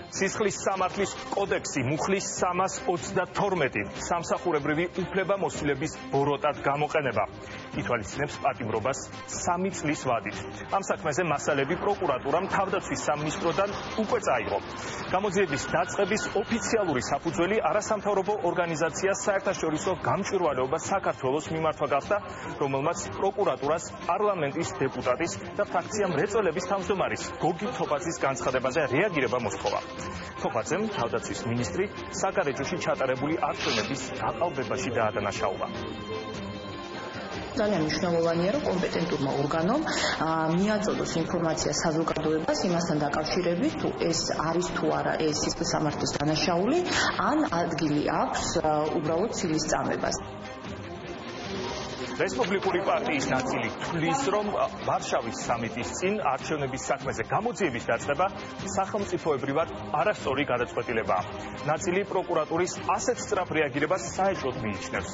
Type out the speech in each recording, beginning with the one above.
სისხლის სამართლის კოდექსი მუხლის 332 სამსახურებრივი უფლებამოსილების ბოროტად გამოყენება ითვალისწინებს პატიმრობას 3 წლის ვადით. ამ საქმეზე მასალები პროკურატურამ თავდაცვის სამინისტროდან უკვე წაიღო. გამოძიების დაწყების ოფიციალური საფუძველი არასამთავრობო ორგანიზაცია საერთაშორისო გამჭვირვალეობა საქართველოს მიმართვა გახდა, რომელმაც პროკურატურას პარლამენტის დეპუტატის და ფრაქცია მრეწველების თავმჯდომარის გოგი თოფაძის განცხადებაზე რეაგირება მოსთხოვა. თოფაძემ თავდაცვის მინისტრი საგარეჯოში ჩატარებული არჩევნების გაყალბებაში დაადანაშაულა. ძალიან მნიშვნელოვანია, რომ კომპეტენტურმა ორგანომ მიაწოდოს ინფორმაცია საზოგადოებას იმასთან დაკავშირებით, თუ ეს არის თუ არა ეს სისხლის სამართლის დანაშაული, ან ადგილი აქვს უბრალოდ ცილის წამებას. რესპუბლიკური პარტიის ნაწილი თვლის, რომ ვარშავის სამიტის წინ არჩევნების საქმეზე გამოძიების დაწყება სახელმწიფოებრივად არასწორი გადაწყვეტილებაა. ნაწილი პროკურატურის ასეთ სწრაფ რეაგირებას საეჭვოდ მიიჩნევს.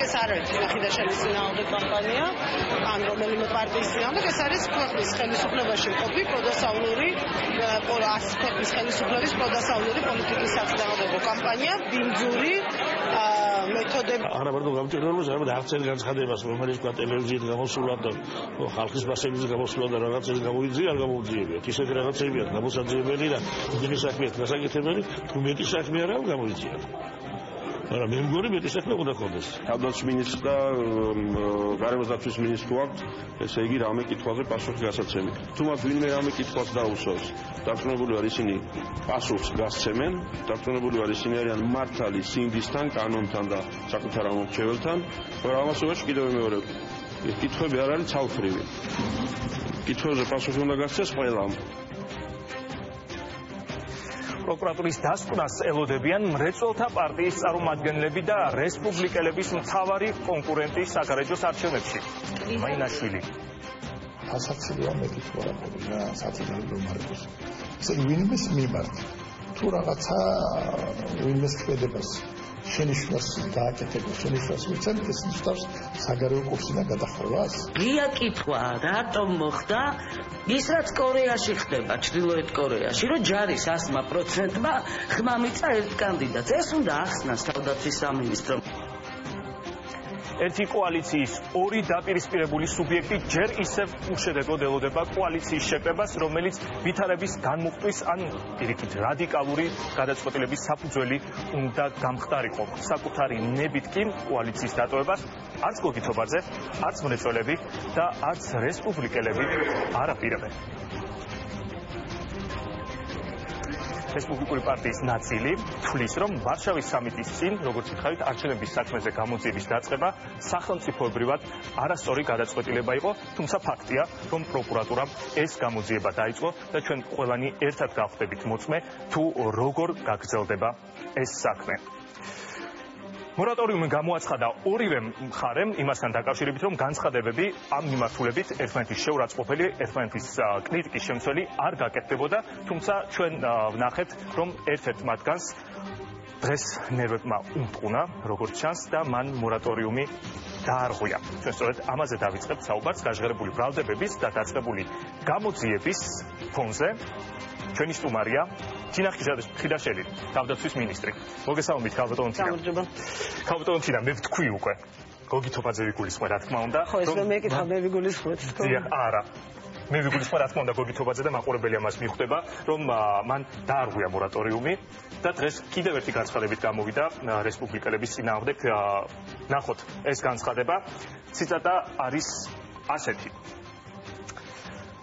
ეს არ არის ხიდაშენის წინააღმდეგ კამპანია, ან რომელიმე პარტიის წინააღმდეგ, ეს არის ქვეყნის ხელისუფლებაში მყოფი პროდასავლური ქვეყნის ხელისუფლების პროდასავლური პოლიტიკის საწინააღმდეგო კამპანია, ბინძური მეთოდები. არა მარტო გამჭირვალებას, არამედ არც ერთ განცხადებას, რომელიც თქვა ტელევიზიით გამოსულა და ხალხის მასებით გამოსულა და რაღაცები გამოიძია, არ გამოუძიებიათ. ისეთი რაღაცებია გამოსაძიებელი და დიდი საქმეა გასაკეთებელი, თუ მეტი საქმე არა გამოიძიათ. არა, მე მგონი მეტი საქმე უნდა ქონდეს. თავდაცვის მინისტრს და გარემოს დაცვის მინისტრს გვაქვს, ესე იგი რამე კითხვაზე პასუხი გასაცემი. თუ მათ ვინმე რამე კითხვას დაუსვავს, დარწმუნებული ვარ ისინი პასუხს გასცემენ, დარწმუნებული ვარ ისინი არიან მართალი სინდისთან, კანონთან და საკუთარ ამორჩეველთან, მაგრამ ამასობაში კიდევ მეორე კითხვები არ არის ცალფრივი. კითხვებზე პასუხი უნდა გასცეს ყველამ. პროკურატურის დასკვნას ელოდებიან მრეწველთა პარტიის წარმომადგენლები და რესპუბლიკელების მთავარი კონკურენტი საგარეჯოს არჩევნებში. მაინაშვილი. ასაცილია მეტი თუ არა ყოფილა სათინაურო მარკოს. ესე ვინმეს მიმართ თუ რაღაცა ვინმეს ქმედებას შენიშვნას დააკეთება, შენიშვნას მიცემ, ეს ნიშნავს საგარეო კურსიდან გადახრებას. ღია კითხვა, რატომ მოხდა ის რაც კორეაში ხდება, ჩრდილოეთ კორეაში, რომ ჯარის 100%-მა ხმა მიწა ერთ კანდიდატს. ეს უნდა ახსნას თავდაცვის სამინისტრო. ერთი კოალიციის ორი დაპირისპირებული სუბიექტი ჯერ ისევ უშედეგოდ ელოდება კოალიციის შეკრებას, რომელიც ვითარების განმუხტვის ან პირიქით რადიკალური გადაწყვეტილების საფუძველი უნდა გამხდარიყო. საკუთარი ნებით კი კოალიციის დატოვებას არც გოგი თოფაძე, არც მრეწველები და არც რესპუბლიკელები არ აპირებენ. რესპუბლიკური პარტიის ნაწილი თვლის, რომ ვარშავის სამიტის წინ, როგორც ითხავით, არჩევნების საქმეზე გამოძიების დაწყება სახელმწიფოებრივად არასწორი გადაწყვეტილება იყო, თუმცა ფაქტია, რომ პროკურატურამ ეს გამოძიება დაიწყო და ჩვენ ყველანი ერთად გავხდებით მოწმე, თუ როგორ გაგრძელდება ეს საქმე. მორატორიუმი გამოაცხადა ორივე მხარემ იმასთან დაკავშირებით, რომ განცხადებები ამ მიმართულებით ერთმანეთის შეურაცხყოფელი, ერთმანეთის კრიტიკის შემცველი არ გაკეთდებოდა, თუმცა ჩვენ ვნახეთ, რომ ერთ-ერთ მათგანს დღეს ნერვებმა უმტყუნა, როგორც ჩანს და მან მორატორიუმი დაარღვია. ჩვენ სწორედ ამაზე დავიწყებთ საუბარს გაჟღერებული ბრალდებების და დაწყებული გამოძიების ფონზე. ჩვენი სტუმარია თინა ხიდაშელი, თავდაცვის მინისტრი. მოგესალმებით, ქალბატონო თინა. ქალბატონო თინა, მე ვთქვი უკვე. გოგი თოფაძე ვიგულისხმე, რა თქმა უნდა. ხო, ეს მე მეკითხა, მე ვიგულისხმეთ. არა. მე ვიგულისხმე, რა თქმა უნდა, გოგი თოფაძე და მაყურებელი ამას მიხვდება, რომ მან დაარღვია მორატორიუმი და დღეს კიდევ ერთი განცხადებით გამოვიდა რესპუბლიკელების წინააღმდეგ. ნახოთ ეს განცხადება. ციტატა არის ასეთი.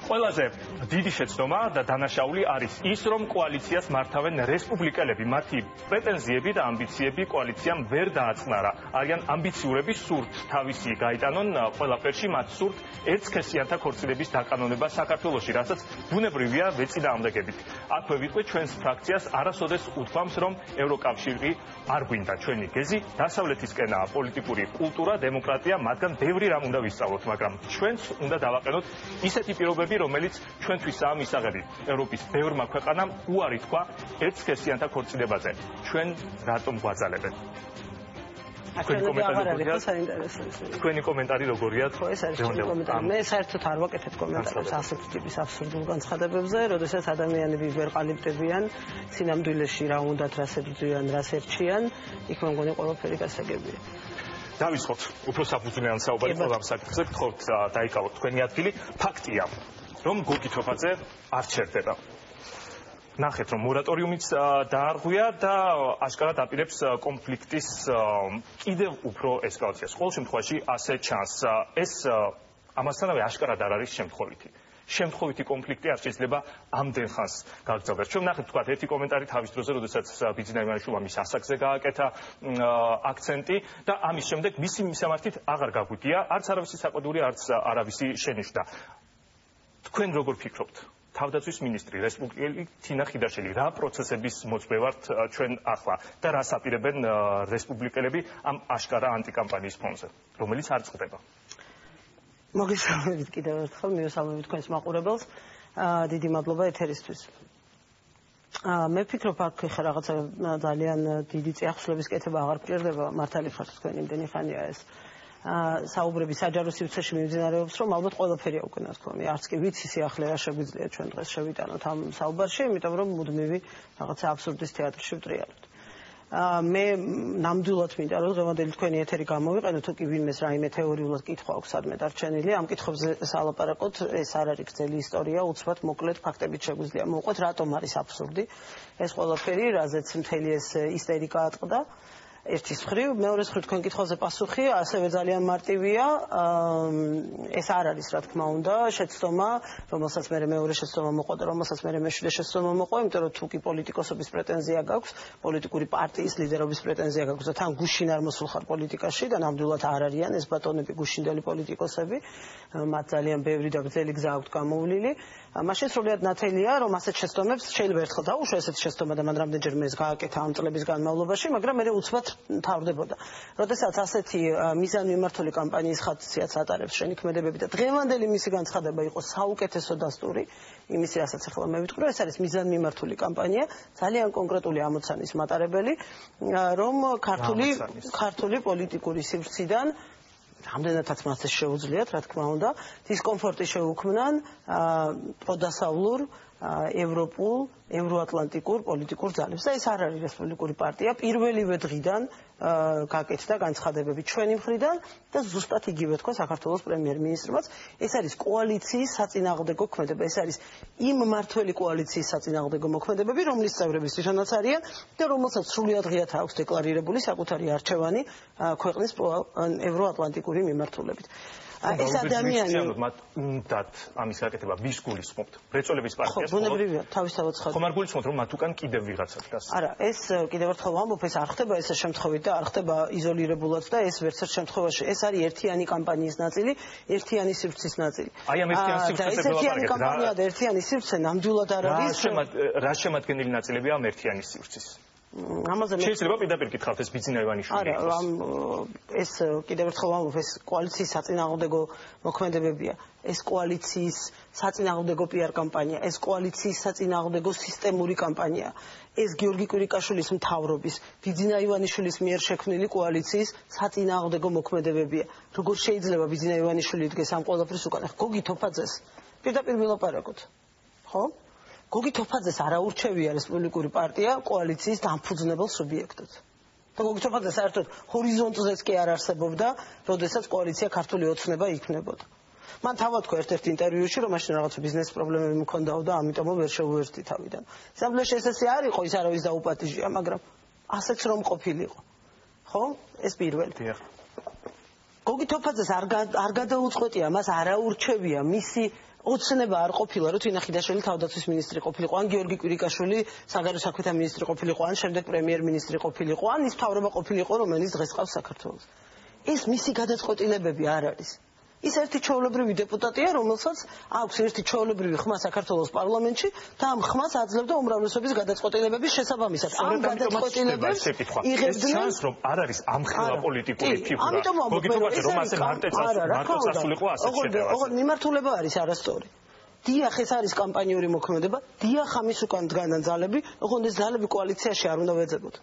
ყველაზე დიდი შეცდომა და დანაშაული არის ის, რომ კოალიციას მართავენ რესპუბლიკელები. მათი პრეტენზიები და ამბიციები კოალიციამ ვერ დააწყნარა. არიან ამბიციურები, სურთ თავისი გაიტანონ ყველაფერში, მათ სურთ ერთსქესიანთა ქორწინების დაკანონება საქართველოში, რასაც ბუნებრივია ვეწინააღმდეგებით. აქვე ვიტყვი ჩვენს ფრაქციას არასოდეს უთქვამს, რომ ევროკავშირი არ გვინდა. ჩვენი გეზი დასავლეთისკენაა, პოლიტიკური კულტურა, დემოკრატია, მათგან ბევრი რამ უნდა ვისწავლოთ, მაგრამ ჩვენც უნდა დავაყენოთ ისეთი პირობები, რომელიც ჩვენთვისაა მისაღები. ევროპის ბევრმა ქვეყანამ უარი თქვა ერთსქესიანთა ქორწინებაზე. ჩვენ რატომ გვაძალებენ? თქვენი კომენტარი როგორია? ხო, ეს არის ჩემი კომენტარი. მე საერთოდ არ ვაკეთებ კომენტარებს ასეთი ტიპის აბსურდულ განცხადებებზე, როდესაც ადამიანები ვერ ყალიბდებიან სინამდვილეში რა უნდათ, რას ებრძვიან, რას ერჩიან, იქ მე მგონი ყველაფერი გასაგებია. დავისხოთ უფრო საფუძვლიან საუბარი ყველა ამ საკითხზე, გთხოვთ დაიკავოთ თქვენი ადგილი. ფაქტია, რომ გოგი თოფაძე არ ჩერდება. ნახეთ, რომ მორატორიუმიც დაარღვია და აშკარად აპირებს კონფლიქტის კიდევ უფრო ესკალაციას. ყოველ შემთხვევაში ასე ჩანს. ეს ამასთანავე აშკარად არ არის შემთხვევითი კონფლიქტი არ შეიძლება ამდენ ხანს გაგრძელდეს. ჩვენ ნახეთ, თქვა ერთი კომენტარი თავის დროზე, როდესაც ბიძინა ივანიშვილმა მის ასაკზე გააკეთა აქცენტი და ამის შემდეგ მისი მისამართით აღარ გაგვიდია, არც არავისი საყვედური, არც არავისი შენიშვნა. თქვენ როგორ ფიქრობთ? თავდაცვის მინისტრი, რესპუბლიკელი თინა ხიდაშელი, რა პროცესების მოწვევართ ჩვენ ახლა და რას აპირებენ რესპუბლიკელები ამ აშკარა ანტიკამპანიის ფონზე, რომელიც არ წყდება? მოგესალმებით კიდევ ერთხელ, მივესალმებით თქვენს მაყურებელს. დიდი მადლობა ეთერისთვის. მე ვფიქრობ, აქ ხა რაღაცა ძალიან დიდი წიაღწევების კეთება აღარ გჭირდება, მართალი ხართ თქვენ, იმდენი ხანია ეს. საუბრები საჯარო სივრცეში მიმდინარეობს, რომ ალბათ ყველაფერია უკვე ნათქვამი. არც კი ვიცი სიახლე რა შეგვიძლია ჩვენ დღეს შევიტანოთ ამ საუბარში, იმიტომ რომ მუდმივი რაღაცა აბსურდის თეატრში ვტრიალოთ. მე ნამდვილად მინდა რომ დღევანდელი თქვენი ეთერი გამოვიყენო, თუ კი ვინმეს რაიმე თეორიულად კითხვა აქვს სადმე დარჩენილი, ამ კითხვებზე სალაპარაკოთ, ეს არ არის გრძელი ისტორია, უცბად მოკლედ ფაქტებით შეგვიძლია მოვყვეთ, რატომ არის აბსურდი ეს ყველაფერი, რაზეც მთელი ეს ისტერიკა ატყდა. ერთის მხრივ, მეორეს მხრივ თქვენ კითხვაზე პასუხი ასევე ძალიან მარტივია. ეს არ არის, რა თქმა უნდა, შეცდომა, რომელსაც მე მეორე შეცდომა მოყვა და რომელსაც მე მეშვიდე შეცდომა მოყვა, იმიტომ რომ თუ კი პოლიტიკოსობის პრეტენზია გაქვს, პოლიტიკური პარტიის ლიდერობის პრეტენზია გაქვს და თან გუშინ არ მოსულ ხარ პოლიტიკაში და ნამდვილად არ არიან ეს ბატონები გუშინდელი პოლიტიკოსები, მათ ძალიან ბევრი და გრძელი გზა აქვთ გამოვლილი. მაშინ სრულიად ნათელია, რომ ასეთ შეცდომებს შეიძლება ერთხელ დაუშვა ესეთ შეცდომა და მან რამდენჯერმე ეს გააკეთა ამ წლების განმავლობაში, მაგრამ მე უცბად თავდებოდა. როდესაც ასეთი მიზანმიმართული კამპანიის ხასიათს ატარებს შენიქმედებები და დღევანდელი მისი განცხადება იყო საუკეთესო დასტური, იმის რასაც ახლა მე ვიტყვი, ეს არის მიზანმიმართული კამპანია, ძალიან კონკრეტული ამოცანის მატარებელი, რომ ქართული პოლიტიკური სივრციდან რამდენადაც მას ეს შეუძლიათ, რა თქმა უნდა, დისკომფორტი შეუქმნან პროდასავლურ, ევროპულ, ევროატლანტიკურ პოლიტიკურ ძალებს. და ეს არ არის რესპუბლიკური პარტია, პირველივე დღიდან გაკეთდა განცხადებები ჩვენი მხრიდან და ზუსტად იგივე თქვა საქართველოს პრემიერ-მინისტრმაც. ეს არის კოალიციის საწინააღმდეგო ქმედება, ეს არის იმ მმართველი კოალიციის საწინააღმდეგო მოქმედებები, რომლის წევრები თვითონაც არიან და რომელსაც სრულიად ღიად აქვს დეკლარირებული საკუთარი არჩევანი ქვეყნის ევროატლანტიკური მიმართულებით. ეს ადამიანი მათ უნდათ ამის გაკეთება ვის გულისხმობთ? მრეწველების პარტიას? ხო, ბუნებრივია, თავისთავად ხარ. ხომ არ გულისხმობთ, რომ მათ უკან კიდევ ვიღაცა დგას? არა, ეს კიდევ ერთხელ ვამბობ, ეს არ ხდება ესე შემთხვევით და არ ხდება იზოლირებულად და ეს ვერცერთ შემთხვევაში ეს არის ერთიანი კამპანიის ნაწილი, ერთიანი სივრცის ნაწილი. აი ამ ერთიანი სივრცეზე ერთიანი კამპანია და ერთიანი სივრცე ნამდვილად არ არის. რა შემადგენელი ნაწილებია ამ ერთიანი სივრცის? ამაზე მე შეიძლება პირდაპირ გითხავთ ეს ბიძინა ივანიშვილი. არა, ეს კიდევ ერთხელ ვამბობ, ეს კოალიციის საწინააღმდეგო მოქმედებებია. ეს კოალიციის საწინააღმდეგო PR კამპანია, ეს კოალიციის საწინააღმდეგო სისტემური კამპანია. ეს გიორგი კვირიკაშვილის მთავრობის, ბიძინა ივანიშვილის მიერ შექმნილი კოალიციის საწინააღმდეგო მოქმედებებია. როგორ შეიძლება ბიძინა ივანიშვილი იდგეს ამ ყველაფრის უკან? გოგი თოფაძეს პირდაპირ ვილაპარაკოთ. ხო? გოგი თოფაძეს არ აურჩევია რესპუბლიკური პარტია კოალიციის დამფუძნებელ სუბიექტად. და გოგი თოფაძე საერთოდ ჰორიზონტზეც კი არ არსებობდა, როდესაც კოალიცია ქართული ოცნება იქმნებოდა. მან თავად თქვა ერთ-ერთ ინტერვიუში, რომ მაშინ რაღაც ბიზნეს პრობლემები მქონდაო და ამიტომ ვერ შეუერთდი თავიდან. სამბლეში ესე არ იყო, ის არავის დაუპატიჟია, მაგრამ ასეც რომ ყოფილიყო. ხო? ეს პირველი. გოგი თოფაძეს არ გადაუწყვეტია, მას არ აურჩევია მისი ოცნება არ ყოფილა, რომ თინა ხიდაშვილი თავდაცვის მინისტრი ყოფილიყო, ან გიორგი კვირიკაშვილი საგარეო საქმეთა მინისტრი ყოფილიყო, ან შემდეგ პრემიერ-მინისტრი ყოფილიყო, ან ის მთავრობა ყოფილიყო, რომელიც დღეს ყავს საქართველოს. ეს მისი გადაწყვეტილებები არ არის. ის ერთი ჩვეულებრივი დეპუტატია, რომელსაც აქვს ერთი ჩვეულებრივი ხმა საქართველოს პარლამენტში და ამ ხმას აძლევდა უმრავლესობის გადაწყვეტილებების შესაბამისად. ამ გადაწყვეტილებებს იღებდნენ. ჩანს, რომ არ არის ამხელა პოლიტიკური ფიგურა. მოგითხოვთ, რომ ასე მარტო სასულიყო ასეთ შეტევას. ოღონდ მიმართულება არის არასწორი. დიახ, ეს არის კამპანიური მოქმედება, დიახ, ამის უკან დგანან ძალები, ოღონდ ეს ძალები კოალიციაში არ უნდა ვეძებოთ.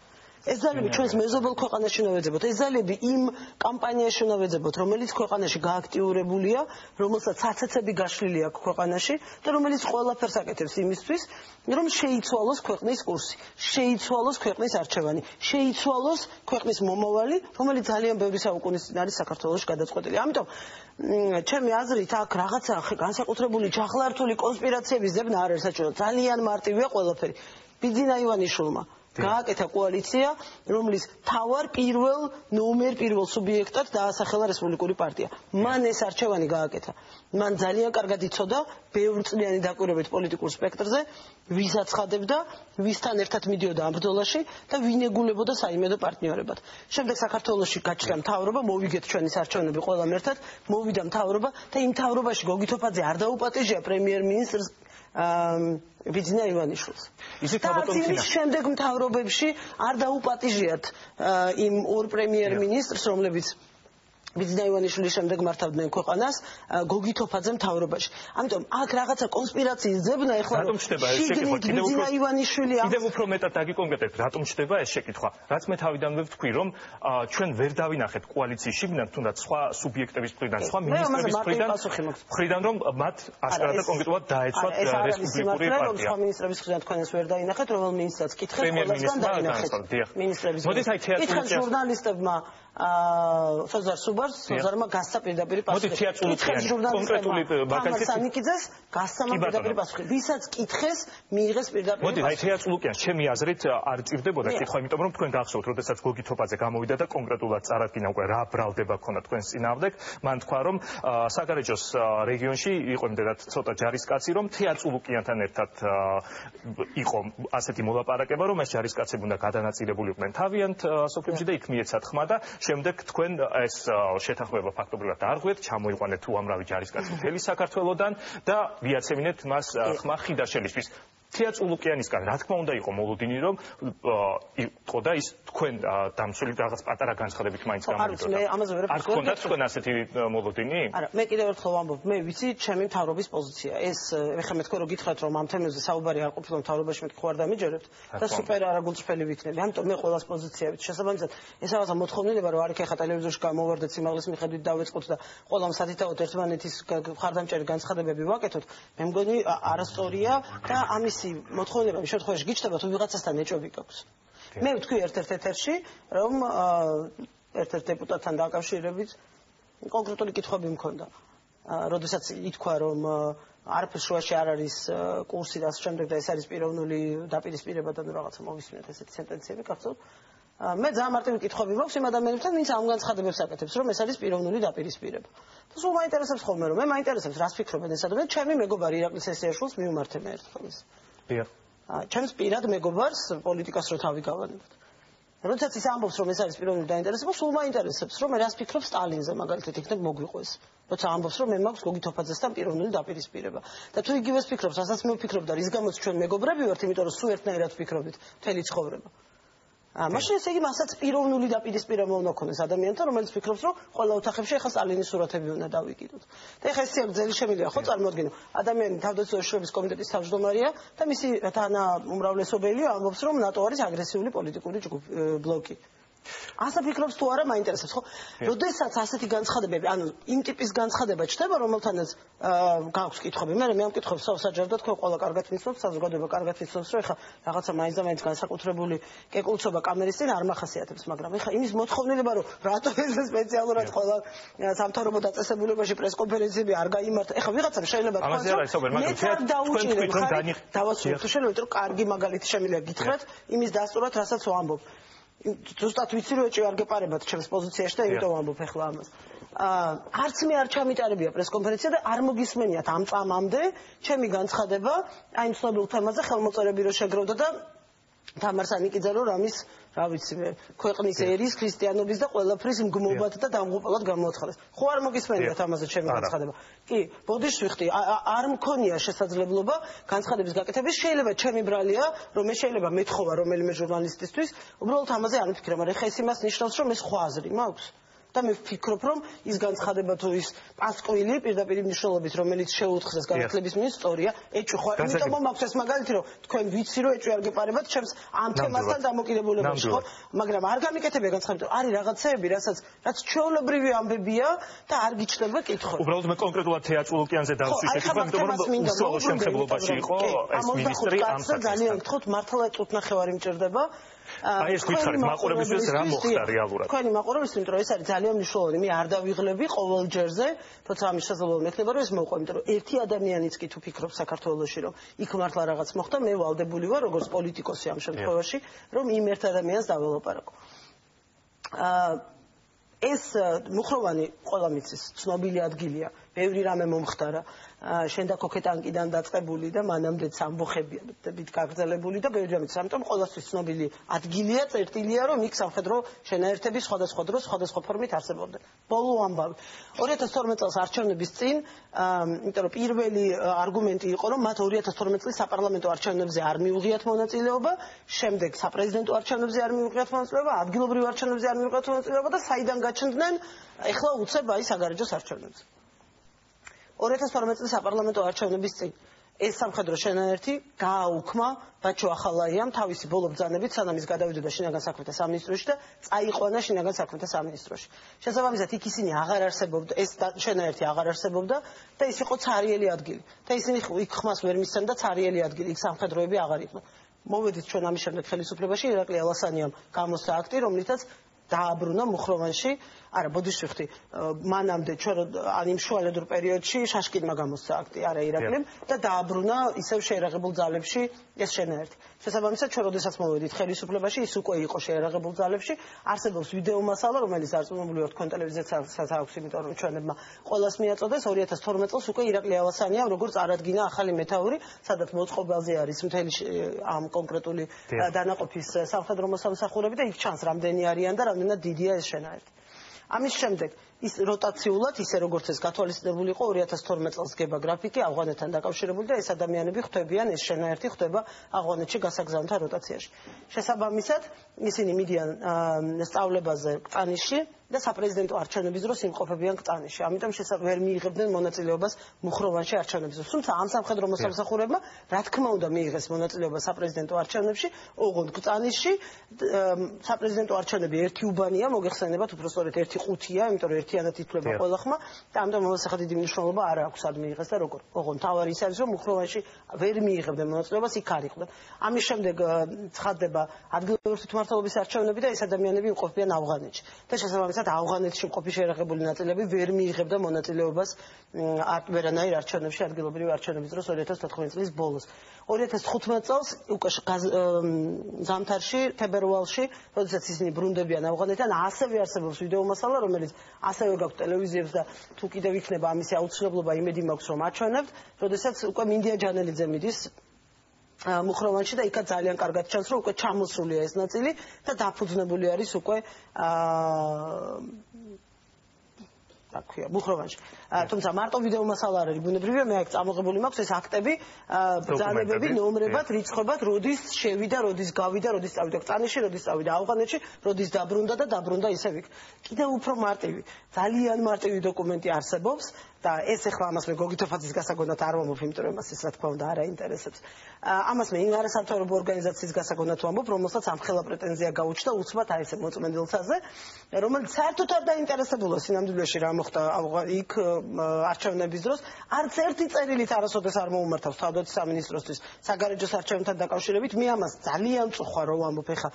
ეს ძალები ჩვენს მეზობელ ქვეყანაში უნდა ვეძებოთ. ეს ძალები იმ კამპანიაში უნდა ვეძებოთ, რომელიც ქვეყანაში გააქტიურებულია, რომელსაც საცეცები გაშლილი აქვს ქვეყანაში და რომელიც ყველაფერს აკეთებს იმისთვის, რომ შეიცვალოს ქვეყნის კურსი, შეიცვალოს ქვეყნის არჩევანი, შეიცვალოს ქვეყნის მომავალი, რომელიც ძალიან ბევრი საუკუნის წინ არის საქართველოში გადაწყვეტილი. ამიტომ ჩემი აზრით აქ რაღაცა განსაკუთრებული ჩახლართული კონსპირაციების ძებნა არ არის საჭირო. ძალიან მარტივია ყველაფერი. ბიძინა ივანიშვილმა გააკეთა კოალიცია, რომლის თავარ პირველ სუბიექტად დაასახელა რესპუბლიკური პარტია. მან ეს არჩევანი გააკეთა. მან ძალიან კარგად იცოდა ბევრწლიანი დაკვირვებით პოლიტიკურ სპექტრზე, ვის აცხადებდა, ვისთან ერთად მიდიოდა ამ ბრძოლაში და ვინ ეგულებოდა საიმედო პარტნიორებად. შემდეგ საქართველოში გაჩნდა მთავრობა, მოვიგეთ ჩვენი არჩევნები ყველამ ერთად, მოვიდა მთავრობა და იმ მთავრობაში გოგი თოფაძე არ დაუპატიჟია პრემიერ-მინისტრს ბიძინა ივანიშვილს. იმის შემდეგ მთავრობებში არ დაუპატიჟიათ იმ ორ პრემიერ-მინისტრს, რომლებიც ბიძინა ივანიშვილის შემდეგ მართავდნენ ქვეყანას გოგი თოფაძე მთავრობაში. ამიტომ აქ რაღაცა კონსპირაციის ძებნა ეხლა რატომ ჩდება ეს შეკითხვა? ბიძინა ივანიშვილი კიდევ უფრო მეტად დაგიკონკრეტებთ, რატომ ჩდება ეს შეკითხვა? რაც მე თავიდანვე ვთქვი, რომ ჩვენ ვერ დავინახეთ კოალიციის შიგნით, თუნდაც სხვა სუბიექტების მხრიდან, სხვა მინისტრების მხრიდან, რომ მათ ასკარად და კონკრეტულად დაეცვათ რესპუბლიკური პარტია. სხვა მინისტრების მხრიდან თქვენ ეს ვერ დაინახეთ, რომელ მინისტრს კითხეთ, ყველასთან დაინახეთ. მინისტრების მხრიდან ჟურნალისტებმა სოზარ სუბარმა გასცა პირდაპირ პასუხი. კონკრეტული მაგალითად გასცა პირდაპირ პასუხი. ვისაც კითხეს, მიიღეს პირდაპირ. მოდი, აი თეატრულუკიან, ჩემი აზრით არ ჭირდებოდა კითხვა, იმიტომ რომ თქვენ გახსოვთ, როდესაც გოგი თოფაძე გამოვიდა და კონკრეტულად წარადგინა უკვე რა ბრალდება ქონდა თქვენს წინააღმდეგ, მან თქვა რომ საგარეჯოს რეგიონში იყო იმდენად ცოტა ჯარისკაცი, რომ თეატრულუკიანთან ერთად იყო ასეთი მოლაპარაკება, რომ ეს ჯარისკაცები უნდა გადანაწილებულიყვნენ თავიანთ სოფლებში და იქ მიეცათ ხმა და შემდეგ თქვენ ეს შეთანხმება ფაქტობრივად დაარღვიეთ, ჩამოიყვანეთ უამრავი ჯარისკაცი მთელი საქართველოდან და მიაცემინეთ მას ხმა ხიდაშელისთვის. თეატრულუკიანისგან რა თქმა უნდა იყო მოლოდინი, რომ იყო და ის თქვენ დამცველი რაღაც პატარა განცხადებით მაინც გამოვიდოდა. არ გქონდათ თქვენ ასეთი მოლოდინი? არა, მე კიდევ ერთხელ ვამბობ, მე ვიცი ჩემი მთავრობის პოზიცია. ეს ეხლა მე თქვენ რო გითხრათ, რომ ამ თემებზე საუბარი არ ყოფილა მთავრობაში, მეთქი ხوار დამიჯერებთ და სუპერ არაგულწრფელი ვიქნები. ამიტომ მე ყოველას პოზიციებით შესაბამისად ეს რაღაცა მოთხოვნილება, რომ არ იქ ეხლა ტელევიზორში გამოვარდეთ სიმაღლის მიხედვით დავეწყოთ და ყველამ სათითაოდ ერთმანეთის ხარდამჭერი განცხადებები ვაკეთოთ. მე მგონი არასწორია და ამის მოთხოვნება შემთხვევაში გიჩნდება თუ ვიღაცასთან ეჭვები გაქვს. მე ვთქვი ერთ-ერთ ეთერში, რომ ერთ-ერთ დეპუტატთან დაკავშირებით კონკრეტული კითხვები მქონდა. როდესაც ითქვა, რომ არაფერს შუაში არ არის კურსი და ამ შემდეგ და ეს არის პიროვნული დაპირისპირება და რაღაცა მოვისმინეთ ესეთი სენტენციები გახსოვთ. მე ძალიან მარტივი კითხვები მაქვს იმ ადამიანებთან, ვინც ამ განცხადებებს აკეთებს, რომ ეს არის პიროვნული დაპირისპირება. და სულ მაინტერესებს ხოლმე, რომ მე მაინტერესებს რას ფიქრობენ ეს ადამიანები, ჩემი მეგობარი ირაკლი სესიაშვილს მივმართე მე ერთხელ ის. ჩემს პირად მეგობარს პოლიტიკას რო თავი გავანებოთ. როდესაც ის ამბობს, რომ ეს არის პიროვნული დაინტერესება, სულ მაინტერესებს, რომ მე რას ფიქრობ სტალინზე, მაგალითად იქნებ მოგვიყვეს. როცა ამბობს, რომ მე მაქვს გოგი თოფაძესთან პიროვნული დაპირისპირება. და თუ იგივეს ფიქრობს, რასაც მე ვფიქრობ და რის გამოც ჩვენ მეგობრები ვართ, იმიტომ რომ სულ ერთნაირად ვფიქრობთ მთელი ცხოვრება. მაშინ ესე იგი მასაც პიროვნული დაპირისპირება უნდა ქონდეს ადამიანთან, რომელიც ფიქრობს, რომ ყველა ოთახებში ახლა სტალინის სურათები უნდა დავიკიდოთ. და ახლა ეს სიაგრძელი შემიძლია ხო წარმოადგინო. ადამიანი თავდაცვის შრომის კომიტეტის თავმჯდომარეა და მისი თანაუმრავლესობელი ამბობს, რომ ნატო არის აგრესიული პოლიტიკური ბლოკი. ასა ფიქრობს თუ არა მაინტერესებს ხო? როდესაც ასეთი განცხადებები, ანუ იმ ტიპის განცხადება ჩნდება, რომელთანაც გაქვს კითხვები. მე ამ კითხვებს საჯაროდ თქვენ ყველა კარგად ვიცნობთ, საზოგადოება კარგად ვიცნობს, რომ ეხლა რაღაცა მაინც და მაინც განსაკუთრებული კეკულწობა კამერის წინ არ მახასიათებს, მაგრამ ეხლა იმის მოთხოვნილება, რომ რატო ეს სპეციალურად ყველა სამთავრობო დაწესებულებაში პრესკონფერენციები არ გაიმართა. ეხლა ვიღაცამ შეიძლება თქვას, რომ დავასრულოთ, შეიძლება რომ კარგი მაგალითი შემიძლია გითხრათ იმის დასტურად, რასაც ვამბობ. ზუსტად ვიცი რომ ეჭვი არ გეპარებათ ჩემს პოზიციაში და იმიტომ ვამბობ ახლა ამას. არც მე არ ჩამიტარებია პრესკონფერენცია და არ მოგისმენიათ ამ წამამდე ჩემი განცხადება აი იმ ცნობილ თემაზე ხელმოწერები რო შეგროვდა და თამარ სანიკიძე რო რამის რა ვიცი მე ქვეყნის ერის ქრისტიანობის და ყველაფრის მგმობად და დამღუპულად გამოაცხადეს. ხო არ მოგისმენიათ ამაზე ჩემი განცხადება? კი, ბოდიშს ვიხდი, არ მქონია შესაძლებლობა განცხადების გაკეთების. შეიძლება ჩემი ბრალია, რომ მე შეიძლება მეთხოვა რომელიმე ჟურნალისტისთვის, უბრალოდ ამაზე არ მიფიქრე, მაგრამ ხა ეს იმას ნიშნავს, რომ ეს სხვა აზრი მაქვს. და მე ვფიქრობ, რომ ის განცხადება თუ ის პასკვილი პირდაპირ მნიშვნელობით, რომელიც შეუთხზეს განათლების მინისტრია, ეჭვი ხო, იმიტომ რომ მაქვს ეს მაგალითი, რომ თქვენ ვიცი, რომ ეჭვი არ გეპარებათ ჩემს ამ თემასთან დამოკიდებულებაში, ხო? მაგრამ არ გამიკეთებია განცხადება, არის რაღაცეები, რაც ჩვეულებრივი ამბებია და არ გიჩნდება კითხვები. უბრალოდ მე კონკრეტულად თეატრულ ოკეანეზე დავსვი შეკითხვა, იმიტომ რომ უსუალო შემთხვევაში იყო ეს მინისტრი ამ საკითხთან. ძალიან გთხოვთ, მართლა წუთნახევარი მჭირდება. აი ეს გითხარით მაყურებელს რა მოხდა რეალურად? თქვენი მაყურებელს, იმიტომ რომ ეს არის ძალიან მნიშვნელოვანი. მე არ დავიღლები ყოველ ჯერზე, თორსა ამის შესაძლებლობა მექნება, რომ ეს მოვყვე, იმიტომ რომ ერთი ადამიანიც კი თუ ფიქრობს საქართველოში, რომ იქ მართლა რაღაც მოხდა, მე ვალდებული ვარ, როგორც პოლიტიკოსი ამ შემთხვევაში, რომ იმ ერთ ადამიანს დაველაპარაკო. ეს მუხროვანი ყველა მიცის, ცნობილი ადგილია, ბევრი რამე მომხდარა. შენ და ქოქეტანკიდან დაწყებული და მანამდეც ამბოხებით გაგრძელებული და ბევრი რამე. ამიტომ ყველასთვის ცნობილი ადგილია, წერტილია, რომ იქ სამხედრო შენაერთები სხვადასხვა დროს, სხვადასხვა ფორმით არსებობდნენ. ბოლო ამბავი. 2012 წელს არჩევნების წინ, იმიტომ რომ პირველი არგუმენტი იყო, რომ მათ 2012 წლის საპარლამენტო არჩევნებზე არ მიუღიათ მონაწილეობა, შემდეგ საპრეზიდენტო არჩევნებზე არ მიუღიათ მონაწილეობა, ადგილობრივ არჩევნებზე არ მიუღიათ მონაწილეობა და საიდან გაჩნდნენ, ეხლა უცებ აი საგარეჯოს არჩევნებზე. 2012 წლის საპარლამენტო არჩევნების წინ ეს სამხედრო შენაერთი გააუქმა ბაჩო ახალაიამ თავისი ბოლო ბრძანებით, სანამ ის გადავიდოდა შინაგან საქმეთა სამინისტროში და წაიყვანა შინაგან საქმეთა სამინისტროში. შესაბამისად, იქ ისინი აღარ არსებობდა, ეს შენაერთი აღარ არსებობდა და ის იყო цаრიელი ადგილი. და ისინი იქ ხმას ვერ მისცემ და цаრიელი ადგილი, იქ სამხედროები აღარ იყო. მოვედით ჩვენ ამის შემდეგ ხელისუფლებაში, ირაკლი ალასანიამ გამოსცა აქტი, რომლითაც დააბრუნა მუხროვანში, არა, ბოდიშვიხტი, მანამდე ჩვენ იმ შუალედურ პერიოდში შაშკინმა გამოსცა აქტი, არა ირაკლიმ და დააბრუნა ისევ შეერაღებულ ძალებში ეს შენაერთი. შესაბამისად, ჩვენ როდესაც მოვედით ხელისუფლებაში, ის უკვე იყო შეერაღებულ ძალებში, არსებობს ვიდეო მასალა, რომელიც არწმუნებული ვარ თქვენ ტელევიზიასაც აქვს, იმიტომ რომ ჩვენებმა ყველას მიაწოდეს 2012 წელს უკვე ირაკლი ალასანიამ როგორც არადგინა ახალი მეთაური, სადაც მოწყობილზე არის მთელი ამ კონკრეტული დანაყოფის სამხედრო მოსამსახურები და იქ ჩანს რამდენი არიან და რამდენად დიდია ეს შენაერთი. ამის შემდეგ ის როტაციულად ისე როგორც ეს გათვალისწინებული იყო 2012 წელს გება გრაფიკი ავღანეთთან დაკავშირებული და ეს ადამიანები ხვდებიან ეს შენაერთი ხდება ავღანეთში გასაგზავნთა როტაციაში. შესაბამისად ისინი მიდიან სწავლებაზე კწანიშში და საპრეზიდენტო არჩევნების დროს იმყოფებიან კწანიშში. ამიტომ ვერ მიიღებდნენ მონაწილეობას მუხროვანში არჩევნების დროს. თუმცა ამ სამხედრო მოსამსახურებმა რა თქმა უნდა მიიღეს მონაწილეობა საპრეზიდენტო არჩევნებში, ოღონდ კწანიშში საპრეზიდენტო არჩევნები ერთი უბანია, მოგეხსენებათ უბრალოდ ერთი ყუთია, იმიტომ რომ ერთიანად ითვლება ყველა ხმა და ამიტომ მოსახად დიდი მნიშვნელობა არ აქვს სად მიიღეს და როგორ. ოღონდ თავარი ის არის, რომ მუხროვანში ვერ მიიღებდნენ მონაწილეობას, იქ არ იყვნენ. ამის შემდეგ ცხადდება ადგილობრივი თვითმმართველობის არჩევნები და ეს ადამიანები იმყოფებიან ავღანეთში. და შესაბამისად ავღანეთში მყოფი შეერაღებული ნაწილები ვერ მიიღებდა მონაწილეობას ვერანაირ არჩევნებში ადგილობრივი არჩევნების დროს 2014 წლის ბოლოს. 2015 წელს უკვე ზამთარში, თებერვალში, როდესაც ისინი ბრუნდებიან ავღანეთიდან, ასევე არსებობს ვიდეო მასალა, რომელიც ასევე გაქვთ ტელევიზიებს და თუ კიდევ იქნება ამისი აუცილებლობა, იმედი მაქვს რომ აჩვენებთ, როდესაც უკვე მინდია ჯანელიძე მიდის მუხროვანში და იქაც ძალიან კარგად ჩანს, რომ უკვე ჩამოსულია ეს ნაწილი და დაფუძნებული არის უკვე აქვია მუხროვანში. თუმცა მარტო ვიდეო მასალა არ არის ბუნებრივია, მე აქ წამოღებული მაქვს ეს აქტები, ბრძანებები, ნომრებად, რიცხვებად, როდის შევიდა, როდის გავიდა, როდის წავიდა კწანიშში, როდის წავიდა ავღანეთში, როდის დაბრუნდა და დაბრუნდა ისევ იქ. კიდევ უფრო მარტივი, ძალიან მარტივი დოკუმენტი არსებობს და ეს ახლა ამას მე გოგითოფაძის გასაგონად არ ვამბობ, იმიტომ რომ მას ეს რა თქმა უნდა არ აინტერესებს. ამას მე იმ არასამთავრობო ორგანიზაციის გასაგონად ვამბობ, რომელსაც ამხელა პრეტენზია გაუჩნდა უცბად აი ეს მოწმენდილთაზე, რომელიც საერთოდ არ დაინტერესებულა სინამდვილეში რა მოხდა იქ არჩევნების დროს, არც ერთი წერილით არასოდეს არ მოუმართავს თავდაცვის სამინისტროსთვის საგარეჯოს არჩევნებთან დაკავშირებით. მე ამას ძალიან წუხვა რო ვამბობ ახლა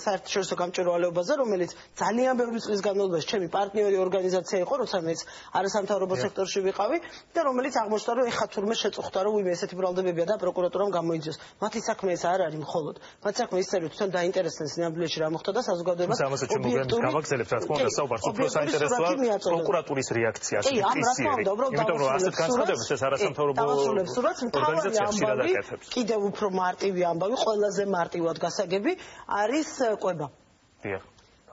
საერთაშორისო გამჭვირვალეობაზე, რომელიც ძალიან ბევრი წლის განმავლობაში ჩემი პარტნიორი ორგანიზაცია იყო, როცა მეც არასამთავრობო სექტორში ვიყავი და რომელიც აღმოჩნდა, რომ ეხა თურმე შეწუხდა, რომ ვინმე ესეთი ბრალდებებია და პროკურატურამ გამოიძიოს. მათი საქმე ეს არ არის მხოლოდ. მათი საქმე ის არის, თვითონ დაინტერესდნენ სინამდვილეში რა მოხდა და საზოგადოებას ობიექტური გავაგზავნებთ, რა თქმა უნდა, საუბარს უფრო საინტერესოა პროკურატურის რეაქცია. იმიტომ რომ ასეთ განცხადებებს ეს არასამთავრობო ორგანიზაცია ხშირად აკეთებს. კიდევ უფრო მარტივი ამბავი, ყველაზე მარტივად გასაგები არის კვება. დიახ.